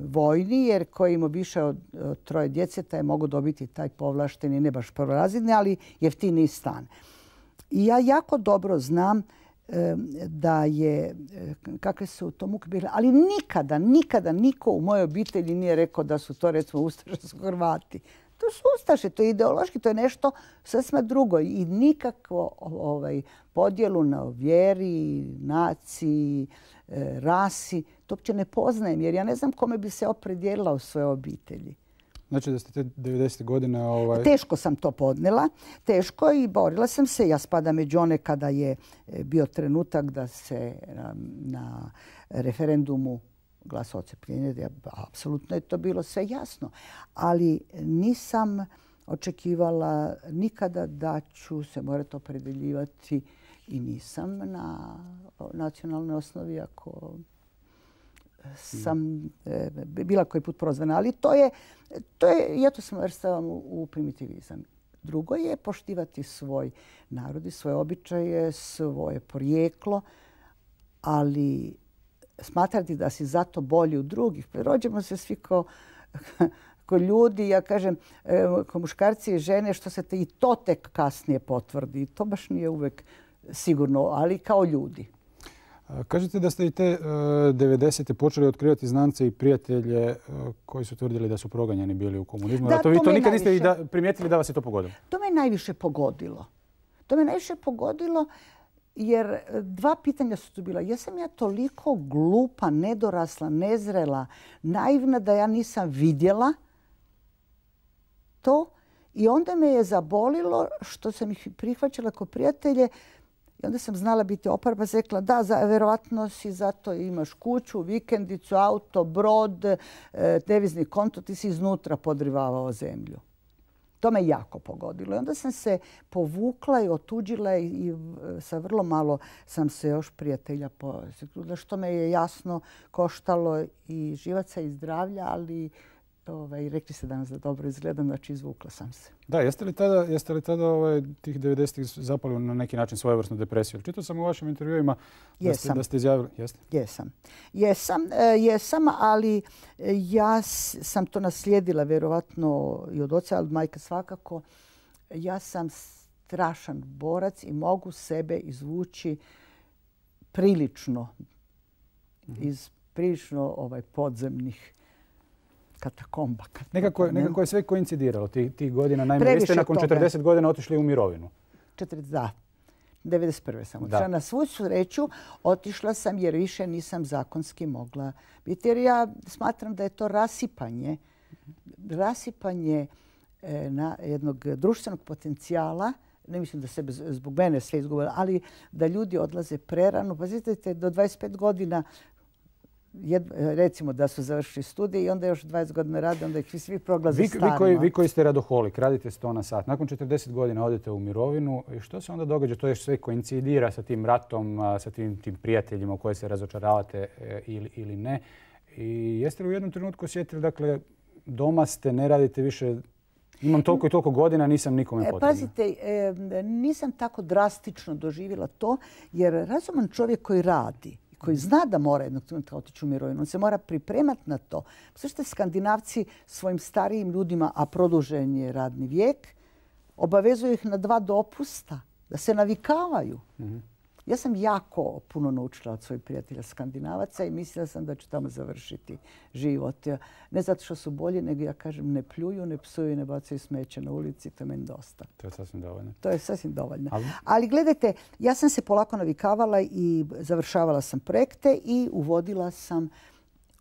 vojni, jer koji imao više od 3 djece, taj je mogao dobiti taj povlašteni, ne baš prvorazredni, ali jeftiniji stan. I ja jako dobro znam da je, kakve su to muke bile, ali nikada niko u mojoj obitelji nije rekao da su to recimo ustaški Hrvati. To su ustaše, to je ideološki, to je nešto sasvim drugo i nikakvo podjelu na vjeri, naciji, rasi, to uopće ne poznajem jer ja ne znam kome bi se opredijelila u svojoj obitelji. Znači da ste te 90. godine... Teško sam to podnijela, teško i borila sam se. Ja spadam među one kada je bio trenutak da se na referendumu glasa odcepljenje. Apsolutno je to bilo sve jasno. Ali nisam očekivala nikada da ću se morati opredeljivati i nisam na nacionalnoj osnovi ako sam bila koji put prozvana. Ali to je ja to svrstavam u primitivizam. Drugo je poštivati svoj narod i svoje običaje, svoje porijeklo, ali smatrati da si zato bolji od drugih. Rođemo se svi ko ljudi, ja kažem, ko muškarci i žene, što se i to tek kasnije potvrdi. To baš nije uvek sigurno, ali kao ljudi. Kažete da ste i te 90. počeli otkrivati znance i prijatelje koji su tvrdili da su proganjani bili u komunizmu. Da, vi to nikad niste primijetili da vas je to pogodilo? To me najviše pogodilo. To me najviše pogodilo jer dva pitanja su tu bila. Jesam ja toliko glupa, nedorasla, nezrela, naivna da ja nisam vidjela to i onda me je zabolilo što sam ih prihvaćala kao prijatelje i onda sam znala biti oporba. Rekla da, verovatno si zato imaš kuću, vikendicu, auto, brod, devizni konto, ti si iznutra podrivavao zemlju. To me jako pogodilo. I onda sam se povukla i otuđila i sa vrlo malo sam se još prijatelja posjetila, što me je jasno koštalo i živaca i zdravlja, ali rekli ste danas da dobro izgledam, znači izvukla sam se. Da, jeste li tada tih 90-ih zapali na neki način svojevrsnu depresiju? Čitao sam u vašim intervjuima da ste izjavili. Jesam, ali ja sam to naslijedila vjerovatno i od oca, ali majka svakako. Ja sam strašan borac i mogu sebe izvući prilično iz prilično podzemnih katakomba. Nekako je sve koincidiralo tih godina. Naime, vi ste nakon 40 godina otišli u mirovinu. Da. 91. sam otišla. Na svu sreću otišla sam jer više nisam zakonski mogla biti. Jer ja smatram da je to rasipanje jednog društvenog potencijala. Ne mislim da sebe zbog mene sve izgubila, ali da ljudi odlaze prerano. Pazite, do 25 godina recimo da su završili studije i onda još 20 godina rade, onda ih svi proglaze starima. Vi koji ste radoholik, radite 100 na sat, nakon 40 godina odete u mirovinu i što se onda događa? To je sve koincidira sa tim ratom, sa tim prijateljima u koje se razočaravate ili ne. I jeste li u jednom trenutku osjetili, dakle, doma ste, ne radite više, imam toliko i toliko godina, nisam nikome potrebna? Pazite, nisam tako drastično doživjela to, jer razuman čovjek koji radi, koji zna da mora jednog trenutka otići u mirovinu. On se mora pripremati na to. Sve Skandinavci svojim starijim ljudima, a produžen je radni vijek, obavezuju ih na 2 dopusta, da se navikavaju. Ja sam jako puno naučila od svojih prijatelja Skandinavaca i mislila sam da ću tamo završiti život. Ne zato što su bolji, nego ja kažem ne pljuju, ne psuju, ne bacaju smeće na ulici. To je meni dosta. To je sasvim dovoljno. To je sasvim dovoljno. Ali gledajte, ja sam se polako navikavala i završavala sam projekte i uvodila sam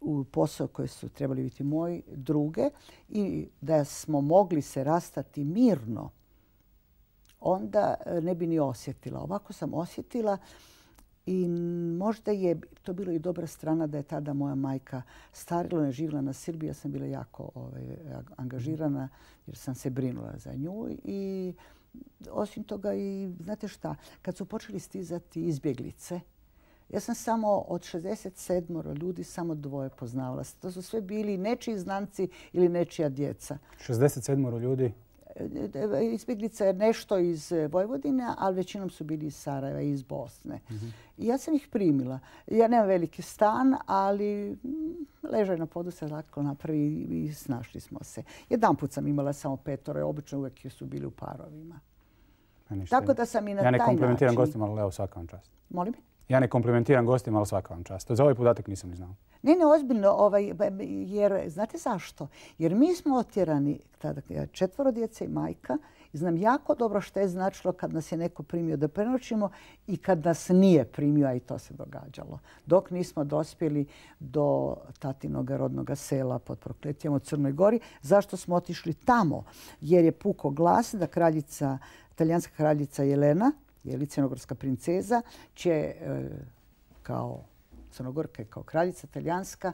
u posao koji su trebali biti moji druge i da smo mogli se rastati mirno, onda ne bi ni osjetila. Ovako sam osjetila i možda je to bilo i dobra strana da je tada moja majka starila, ne živjela na Srbiji. Ja sam bila jako angažirana jer sam se brinula za nju. I osim toga, i znate šta, kad su počeli stizati izbjeglice, ja sam samo od 67 ljudi samo 2 poznavala. To su sve bili nečiji znanci ili nečija djeca. 67 ljudi? Izbjeglica je nešto iz Vojvodine, ali većinom su bili iz Sarajeva i iz Bosne. I ja sam ih primila. Ja nemam veliki stan, ali ležaj na podu se lako napravi i snašli smo se. Jedanput sam imala samo 5, obično uvijek su bili u parovima. Tako da sam i na taj način... Ja ne komplimentiram gostima, ali evo svaka vam čast. Molim? Ja ne komplimentiram gostima, ali svaka vam čast. Za ovaj podatak nisam ni znao. Ne, ozbiljno, jer znate zašto? Jer mi smo otjerani, tada 4 djece i majka, I znam jako dobro što je značilo kad nas je neko primio da prenoćimo i kad nas nije primio, a i to se događalo. Dok nismo dospjeli do tatinog rodnog sela pod Prokletijom u Crnoj Gori. Zašto smo otišli tamo? Jer je puko glas da talijanska kraljica Jelena, crnogorska princeza, će kao Crnogorka i kao kraljica talijanska,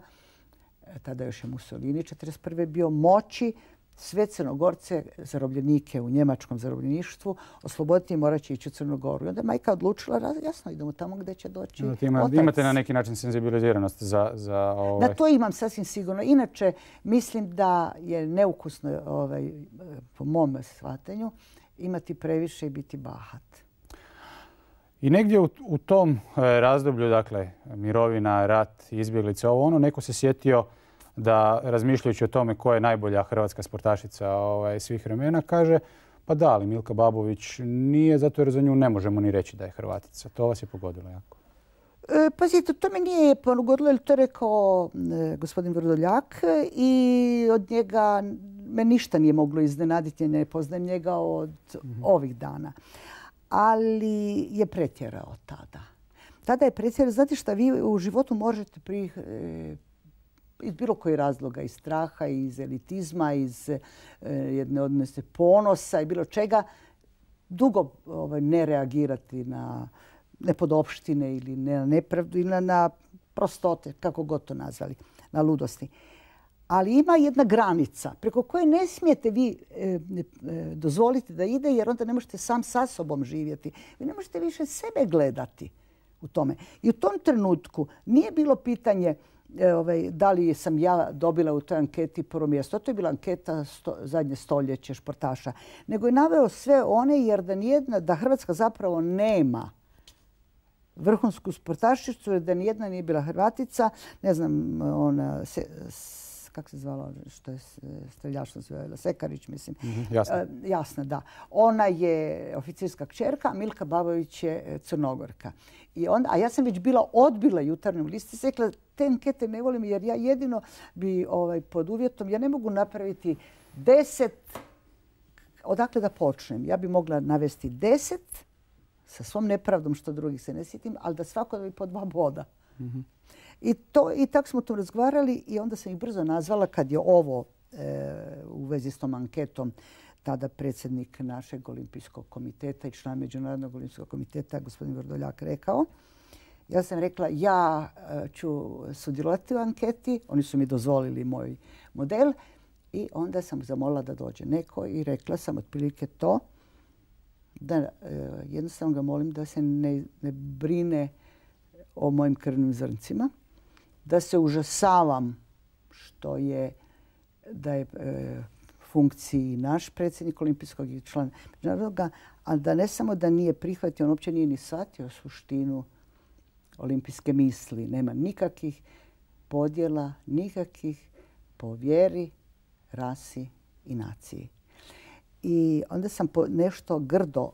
tada još je Mussolini 1941. bio, moći sve Crnogorce, zarobljenike u njemačkom zarobljeništvu, osloboditi i morat će ići u Crnu Goru. I onda je majka odlučila, jasno, idemo tamo gdje će doći otac. Imate na neki način senzibiliziranost za Na to imam sasvim sigurno. Inače, mislim da je neukusno, po mom shvatanju, imati previše i biti bahat. I negdje u tom razdoblju, dakle, mirovina, rat, izbjeglice, neko se sjetio da, razmišljajući o tome ko je najbolja hrvatska sportašica svih vremena, kaže pa da, ali Milka Babović nije, zato jer za nju ne možemo ni reći da je Hrvatica. To vas je pogodilo jako. Pazite, to me nije pogodilo, jer to je rekao gospodin Vrdoljak i od njega me ništa nije moglo iznenaditi, ne poznajem njega od ovih dana. Ali je pretjerao tada. Tada je pretjerao. Znate šta, vi u životu možete iz bilo koji razloga, iz straha, iz elitizma, iz jedne odnose ponosa i bilo čega, dugo ne reagirati na nepodopštine ili na nepravdu ili na prostote, kako god to nazvali, na ludosti. Ali ima jedna granica preko koje ne smijete vi dozvoliti da ide, jer onda ne možete sam sa sobom živjeti. Vi ne možete više sebe gledati u tome. I u tom trenutku nije bilo pitanje da li sam ja dobila u toj anketi prvo mjesto. To je bila anketa zadnje stoljeće športaša. Nego je naveo sve one, jer da Hrvatska zapravo nema vrhunsku sportašicu, jer da nijedna nije bila Hrvatica. Ne znam, ona kako se zvala, što je streljačna zvala, Sekarić, mislim. Jasno. Jasno, da. Ona je oficirska kćerka, a Milka Babović je Crnogorka. A ja sam već bila odbila Jutarnjem listu i rekla, te ankete ne volim jer ja jedino bi pod uvjetom, ja ne mogu napraviti 10, odakle da počnem. Ja bi mogla navesti 10 sa svom nepravdom što drugih se ne sjetim, ali da svako da bi po 2 boda. I tako smo to razgovarali i onda sam ih brzo nazvala kad je ovo u vezi s tom anketom tada predsjednik našeg olimpijskog komiteta i član Međunarodnog olimpijskog komiteta, gospodin Vrdoljak, rekao. Ja sam rekla, ja ću sudjelovati u anketi. Oni su mi dozvolili moj model i onda sam zamolila da dođe neko i rekla sam otprilike to da jednostavno ga molim da se ne brine o mojim krvnim zrncima, da se užasavam da je funkciji naš predsjednik olimpijskog i član međunarodnoga, ali da ne samo da nije prihvatio, on uopće nije ni shvatio suštinu olimpijske misli. Nema nikakvih podjela, nikakvih po vjeri, rasi i naciji. I onda sam nešto grdo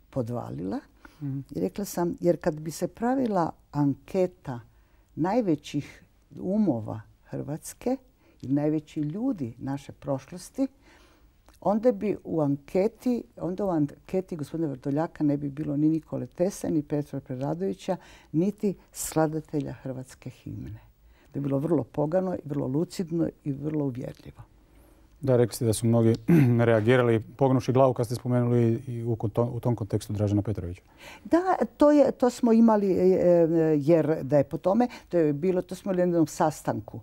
podvalila i rekla sam, jer kad bi se pravila anketa najvećih umova Hrvatske i najveći ljudi naše prošlosti, onda bi u anketi gospodina Vrdoljaka ne bi bilo ni Nikole Tesle, ni Petra Preradovića, niti skladatelja hrvatske himne. To je bilo vrlo pogano, vrlo lucidno i vrlo uvjerljivo. Da, rekli ste da su mnogi reagirali pognuši glavu kad ste spomenuli i u tom kontekstu Dražena Petrovića. Da, to smo imali, jer da je po tome, to smo imali na jednom sastanku.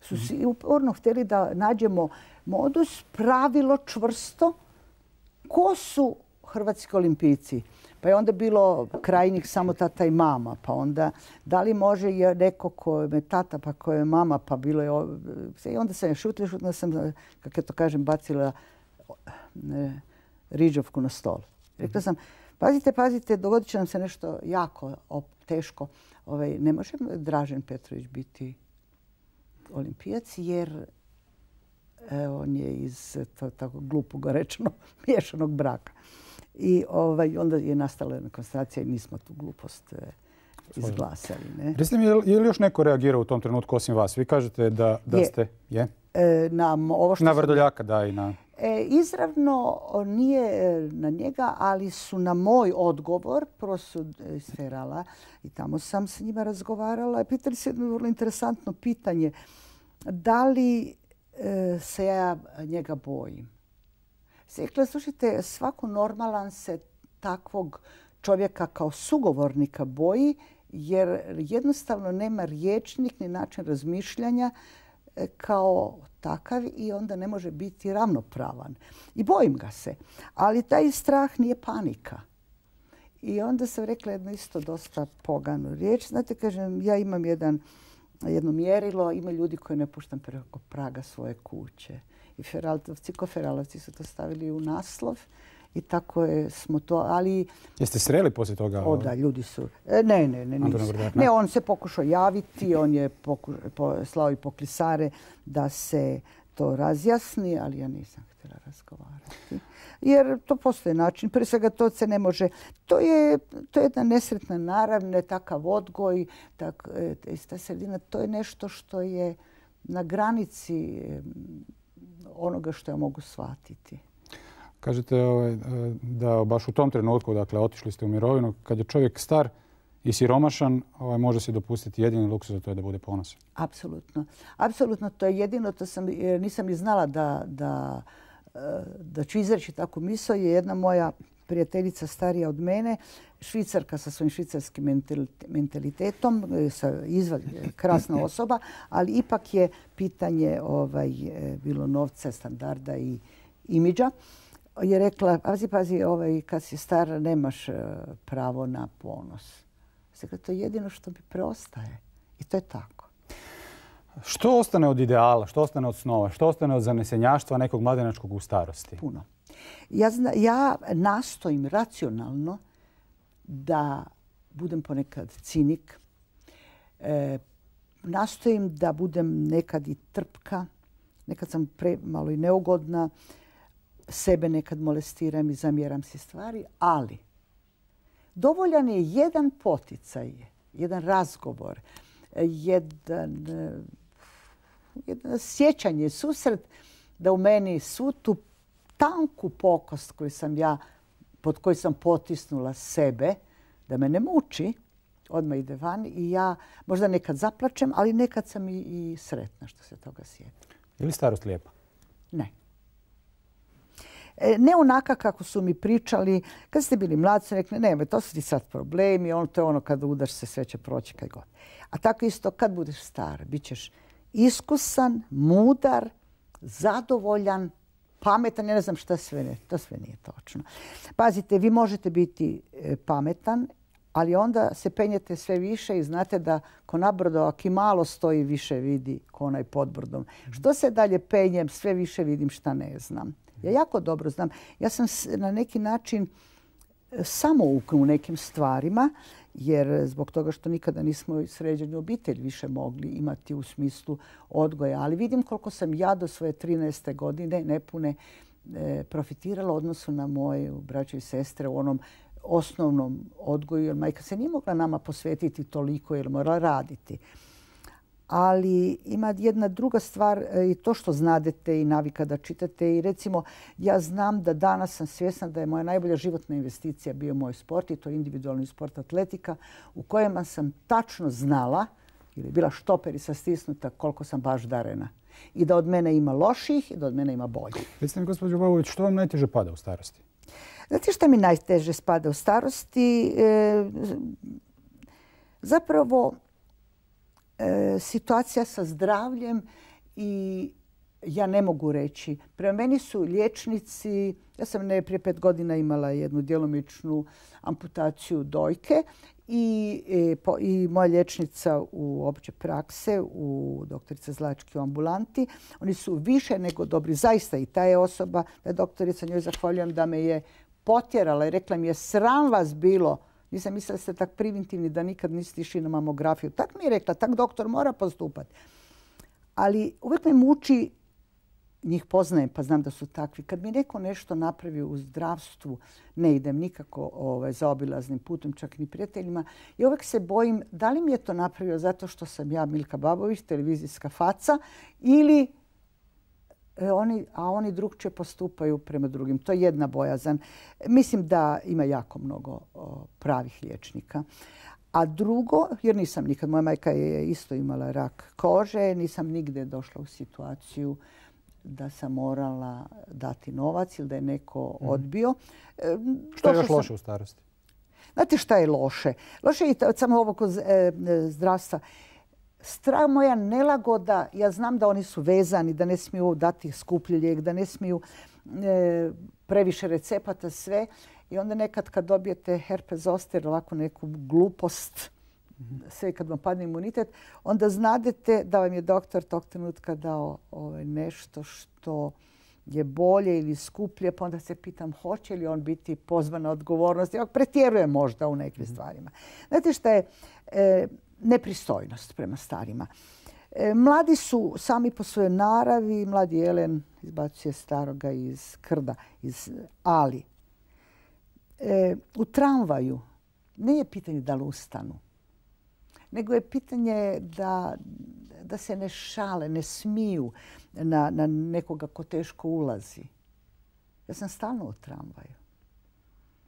Su si uporno htjeli da nađemo modus, pravilo čvrsto, ko su hrvatski olimpijci. Pa je onda bilo krajnjih samo tata i mama. Pa onda da li može neko ko je tata pa ko je mama, pa bilo je... I onda sam je šutila sam, kako ja to kažem, bacila riđovku na stol. Rekla sam, pazite, dogodit će nam se nešto jako teško. Ne može Dražen Petrović biti olimpijac jer on je iz, tako glupo ga rečeno, miješanog braka. I onda je nastala jedna konstatacija i nismo tu glupost izglasali. Recite mi, je li još neko reagirao u tom trenutku osim vas? Vi kažete da ste... Na Vrdoljaka, da, i na... Izravno nije na njega, ali su na moj odgovor, prvo su iz Ferala i tamo sam s njima razgovarala. Pitali se jedno vrlo interesantno pitanje. Da li se ja njega bojim? Rekla, slušajte, svako normalan se takvog čovjeka kao sugovornika boji, jer jednostavno nema rječnik ni način razmišljanja kao takav i onda ne može biti ravnopravan. I bojim ga se. Ali taj strah nije panika. I onda sam rekla jedno isto dosta poganu riječ. Znate, kažem, ja imam jedno mjerilo, ima ljudi koje ne puštam preko praga svoje kuće. I Feralovci su to stavili u naslov i tako smo to, ali... Jeste sreli poslije toga? Da, ljudi su... Ne, nisu. Ne, on se pokušao javiti, on je slao i poklisare da se to razjasni, ali ja nisam htjela razgovarati. Jer to postoji način. Prije svega to se ne može... To je jedna nesretna narav, ne takav odgoj, ta sredina. To je nešto što je na granici onoga što ja mogu shvatiti. Kažete da baš u tom trenutku, dakle, otišli ste u mirovinu, kad je čovjek star i siromašan, može si dopustiti jedini luksuz, a to je da bude ponosan. Apsolutno. Apsolutno, to je jedino, nisam ni znala da ću izreći takvu misao. Je jedna moja prijateljica starija od mene, Švicarka sa svojim švicarskim mentalitetom, krasna osoba, ali ipak je pitanje bilo novca, standarda i imidža. Je rekla, pazi, kad si star nemaš pravo na ponos. Dakle, to je jedino što mi preostaje. I to je tako. Što ostane od ideala, što ostane od snova, što ostane od zanesenjaštva nekog mladenačkog u starosti? Puno. Ja nastojim racionalno da budem ponekad cinik. Nastojim da budem nekad i trpka. Nekad sam malo i neugodna. Sebe nekad molestiram i zamjeram si stvari. Ali dovoljan je jedan poticaj, jedan razgovor, jedno sjećanje, susret da u meni svu tu tanku pokost pod koju sam potisnula sebe, da me ne muči, odmah ide van i ja možda nekad zaplačem, ali nekad sam i sretna što se toga sjetim. Je li starost lijepa? Ne. Ne onaka kako su mi pričali. Kad ste bili mladi su rekli, ne, to su ti sad problemi, to je ono kada udaš se, sve će proći kaj god. A tako isto kad budeš star, bit ćeš iskusan, mudar, zadovoljan, pametan, ja ne znam šta sve ne. To sve nije točno. Pazite, vi možete biti pametan, ali onda se penjete sve više i znate da ko nabrdo, ako i malo stoji, više vidi ko onaj pod brdom. Što se dalje penjem, sve više vidim šta ne znam. Ja jako dobro znam. Ja sam na neki način samouk u nekim stvarima, jer zbog toga što nikada nismo sređenu obitelj više mogli imati u smislu odgoja. Ali vidim koliko sam ja do svoje 13. godine nepune profitirala u odnosu na moje braće i sestre u onom osnovnom odgoju. Jer majka se nije mogla nama posvetiti toliko jer morala raditi. Ali ima jedna druga stvar i to što znadete i navika da čitate. I recimo, ja znam da danas sam svjesna da je moja najbolja životna investicija bio moj sport i to je individualni sport atletika u kojem sam tačno znala, jer je bila štoper i sastisnuta koliko sam baš darena. I da od mene ima loših i da od mene ima boljih. Recite mi, gospođo Babović, što vam najteže pada u starosti? Znate što mi najteže spada u starosti? Zapravo, situacija sa zdravljem i ja ne mogu reći. Prema meni su liječnici, ja sam prije 5 godina imala jednu djelomičnu amputaciju dojke i moja liječnica u opće prakse, u doktorica Zlački u ambulanti, oni su više nego dobri. Zaista i ta je osoba, ta doktorica, njoj zahvaljujem da me je potjerala i rekla mi je sram vas bilo. Nisam mislila da ste tak primitivni da nikad niste išli na mamografiju. Tak mi je rekla, tak doktor mora postupati. Ali uvijek me muči, njih poznajem pa znam da su takvi. Kad mi neko nešto napravi u zdravstvu, ne idem nikako zaobilaznim putem, čak ni prijateljima. I uvijek se bojim da li mi je to napravio zato što sam ja Milka Babović, televizijska faca, ili a oni drugčije postupaju prema drugim. To je jedna bojazan. Mislim da ima jako mnogo pravih liječnika. A drugo, jer nisam nikad, moja majka je isto imala rak kože, nisam nigde došla u situaciju da sam morala dati novac ili da je neko odbio. Što je još loše u starosti? Znate šta je loše? Loše je samo ovo kod zdravstva. Strah moja nelagoda, ja znam da oni su vezani, da ne smiju dati skuplji lijek, da ne smiju previše recepata, sve. I onda nekad kad dobijete herpes zoster, ovako neku glupost, sve kad vam padne imunitet, onda znadete da vam je doktor tog trenutka dao nešto što je bolje ili skuplje, pa onda se pitam hoće li on biti pozvan na odgovornost. Ja pretjerujem možda u nekim stvarima. Znate šta je nepristojnost prema starima? Mladi su sami po svojoj naravi, mladi Jelen izbacuje staroga iz krda, ali u tramvaju nije pitanje da li ustanu, nego je pitanje da se ne šale, ne smiju na nekoga ko teško ulazi. Ja sam stalno u tramvaju.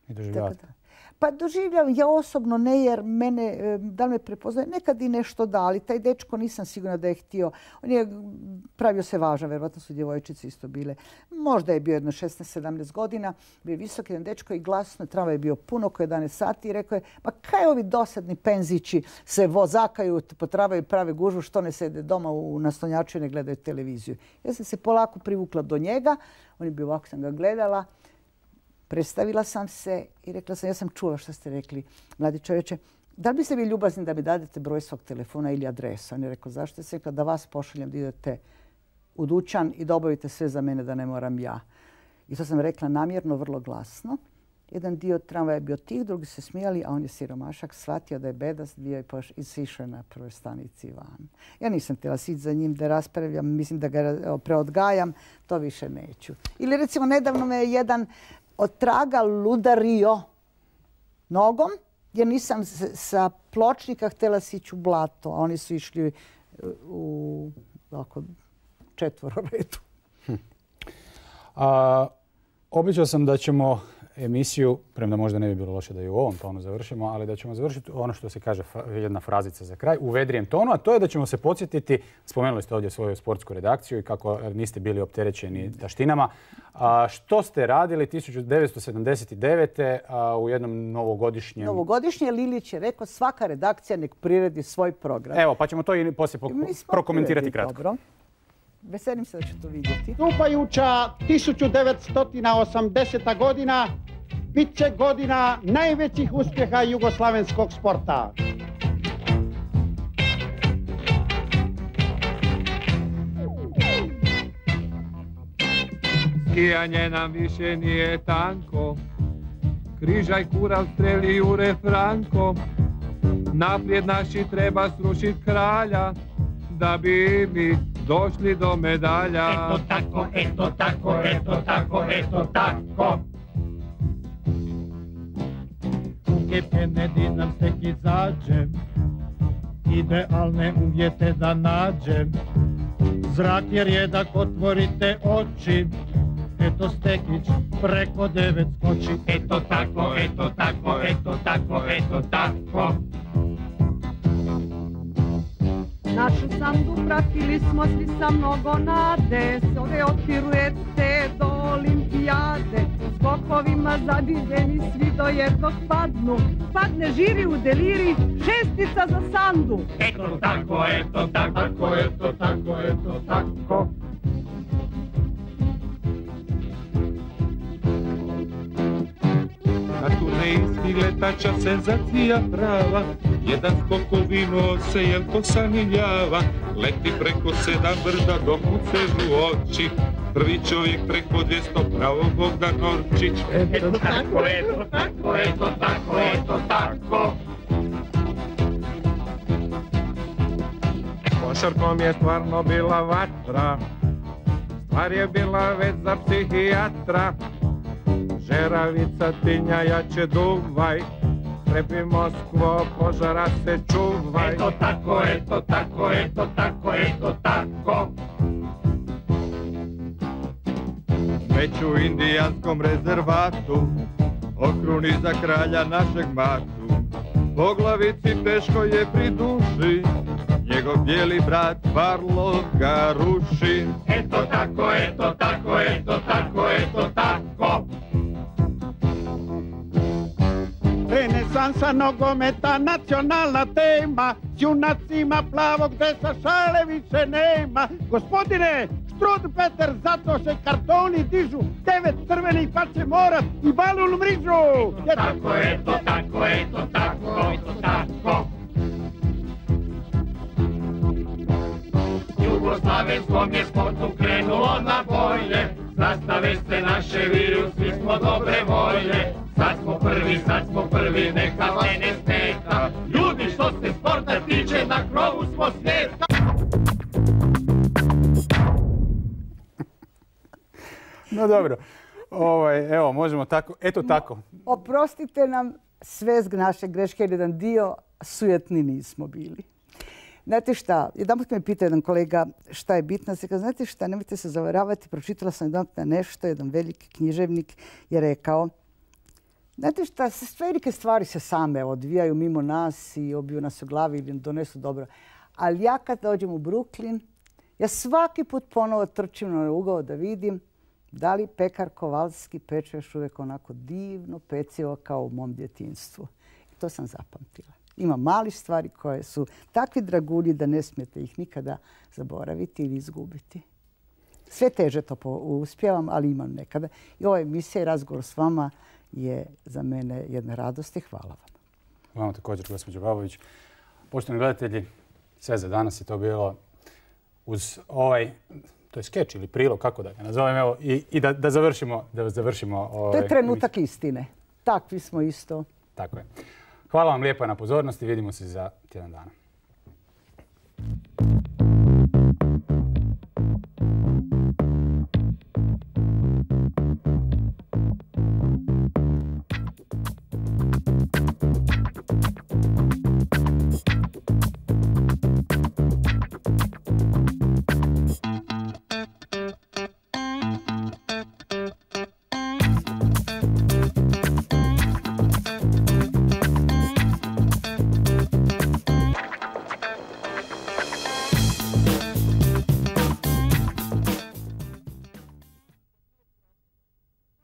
I doživljavate? Pa doživljavam, ja osobno ne, jer mene, da li me prepoznaje, nekad i nešto da, ali taj dečko nisam sigurna da je htio. On je pravio se važan, vjerovatno su djevojčice isto bile. Možda je bio jedno 16-17 godina, bio visok jedan dečko i glasno, tramvaj je bio puno, oko 11 sati i rekao je, pa kaj ovi dosadni penzići se vozakaju, potravaju, prave gužvu, što ne sede doma u naslonjaču i ne gledaju televiziju. Ja sam se polako privukla do njega, on je bio ovako, sam ga gledala. Predstavila sam se i rekla sam, ja sam čula što ste rekli, mladi čovječe, da li biste vi ljubazni da mi dadete broj svog telefona ili adresu? On je rekao, zašto? Ja sam rekla da vas pošaljem da idete u dućan i da obavite sve za mene da ne moram ja. I to sam rekla namjerno, vrlo glasno. Jedan dio tramvaja je bio tih, drugi se smijali, a on je siromašak, shvatio da je bedast bio i sišao na prvoj stanici van. Ja nisam htjela sići za njim da raspravljam, mislim da ga preodgajam, to više neću. Ili recimo nedavno me je jedan od traga ludario nogom, jer nisam sa pločnika htjela sići u blato, a oni su išli u četvororedu. Obećao sam da ćemo emisiju, premda možda ne bi bilo loše da i u ovom tonu završimo, ali da ćemo završiti ono što se kaže jedna frazica za kraj, u vedrijem tonu, a to je da ćemo se podsjetiti, spomenuli ste ovdje svoju sportsku redakciju i kako niste bili opterećeni taštinama. Što ste radili 1979. U jednom novogodišnjem... Novogodišnje Lilić je rekao svaka redakcija nek priredi svoj program. Evo, pa ćemo to i poslije prokomentirati kratko. Dobro. Veselim se da ću to vidjeti. Stupajuća 1980. godina bit će godina najvećih uspjeha jugoslavenskog sporta. Skijanje nam više nije tanko, križaj kural streli Jure Franko, naprijed naši treba srušit kralja, da bi mi došli do medalja. Eto tako, eto tako, eto tako, eto tako. U Kennedy nam tek izađe, idealne uvjete da nađem. Zrak je rijedak, otvorite oči, eto Stekić preko 9 skoči. Eto tako, eto tako, eto tako, eto tako. Našu sandu pratili smo svi sa mnogo nade, s ove od piruete do olimpijade. Skokovima zadivljeni svi do jednog padnu, padne žiri u deliri, šestica za sandu. Eto tako, eto tako, eto tako, eto tako. Na turneji stiletača senzacija prava, jedan skokovino se Jelko saniljava, leti preko 7 brda dok mu sežu oči, prvi čovjek preko 200 pravo Bogdan Orčić. Eto tako, eto tako, eto tako, eto tako. Košarkom je stvarno bila vatra, stvar je bila već za psihijatra. Žeravica tinja jače duvaj, Trebi Moskvo, požara se čuvaj. Eto tako, eto tako, eto tako, eto tako. već u indijanskom rezervatu, okruni za kralja našeg matu. Po glavici teško je pri duši, njegov bijeli brat Varlo ga ruši. Eto tako, eto tako, eto tako, eto tako. Renesansa nogometa, nacionalna tema, s junacima plavog dresa šale više nema. Gospodine, Štrud Peter, zato se kartoni dižu, 9 crvenih pa će morat i balun mrižu. Tako, eto tako, eto tako, eto tako. Jugoslavenskom je sportu krenulo na bolje, zastave se naše viju, svi smo dobre volje. Sad smo prvi, neka vas ne smeta. Ljudi, što se sporta tiče, na krovu smo svijeta. No dobro, evo, možemo tako, eto tako. Oprostite nam sve naše greške, jer jedan dio sujetni nismo bili. Znate šta, jedanput me pitao jedan kolega šta je bitno. Se kaže, znate šta, nemojte se zavaravati, pročitala sam jedanput nešto, jedan veliki književnik je rekao, znate šta, velike stvari se same odvijaju mimo nas i obiju nas u glavi ili donesu dobro. Ali ja kad dođem u Brooklyn, ja svaki put ponovo trčim na ugao da vidim da li pekar Kovalski peče još uvijek onako divno pecivo kao u mom djetinjstvu. I to sam zapamtila. Ima malih stvari koje su takvi dragulji da ne smijete ih nikada zaboraviti ili izgubiti. Sve teže to uspijevam, ali imam nekada. I ova emisija i razgovor s vama je za mene jedna radost i hvala vam. Vama također, gospođo Babović. Poštovani gledatelji, sve za danas je to bilo uz to je skeč ili prilog, kako da ga nazovem, evo, i da završimo. To je trenutak istine. Takvi smo isto. Tako je. Hvala vam lijepo na pozornosti. Vidimo se za tjedan dana.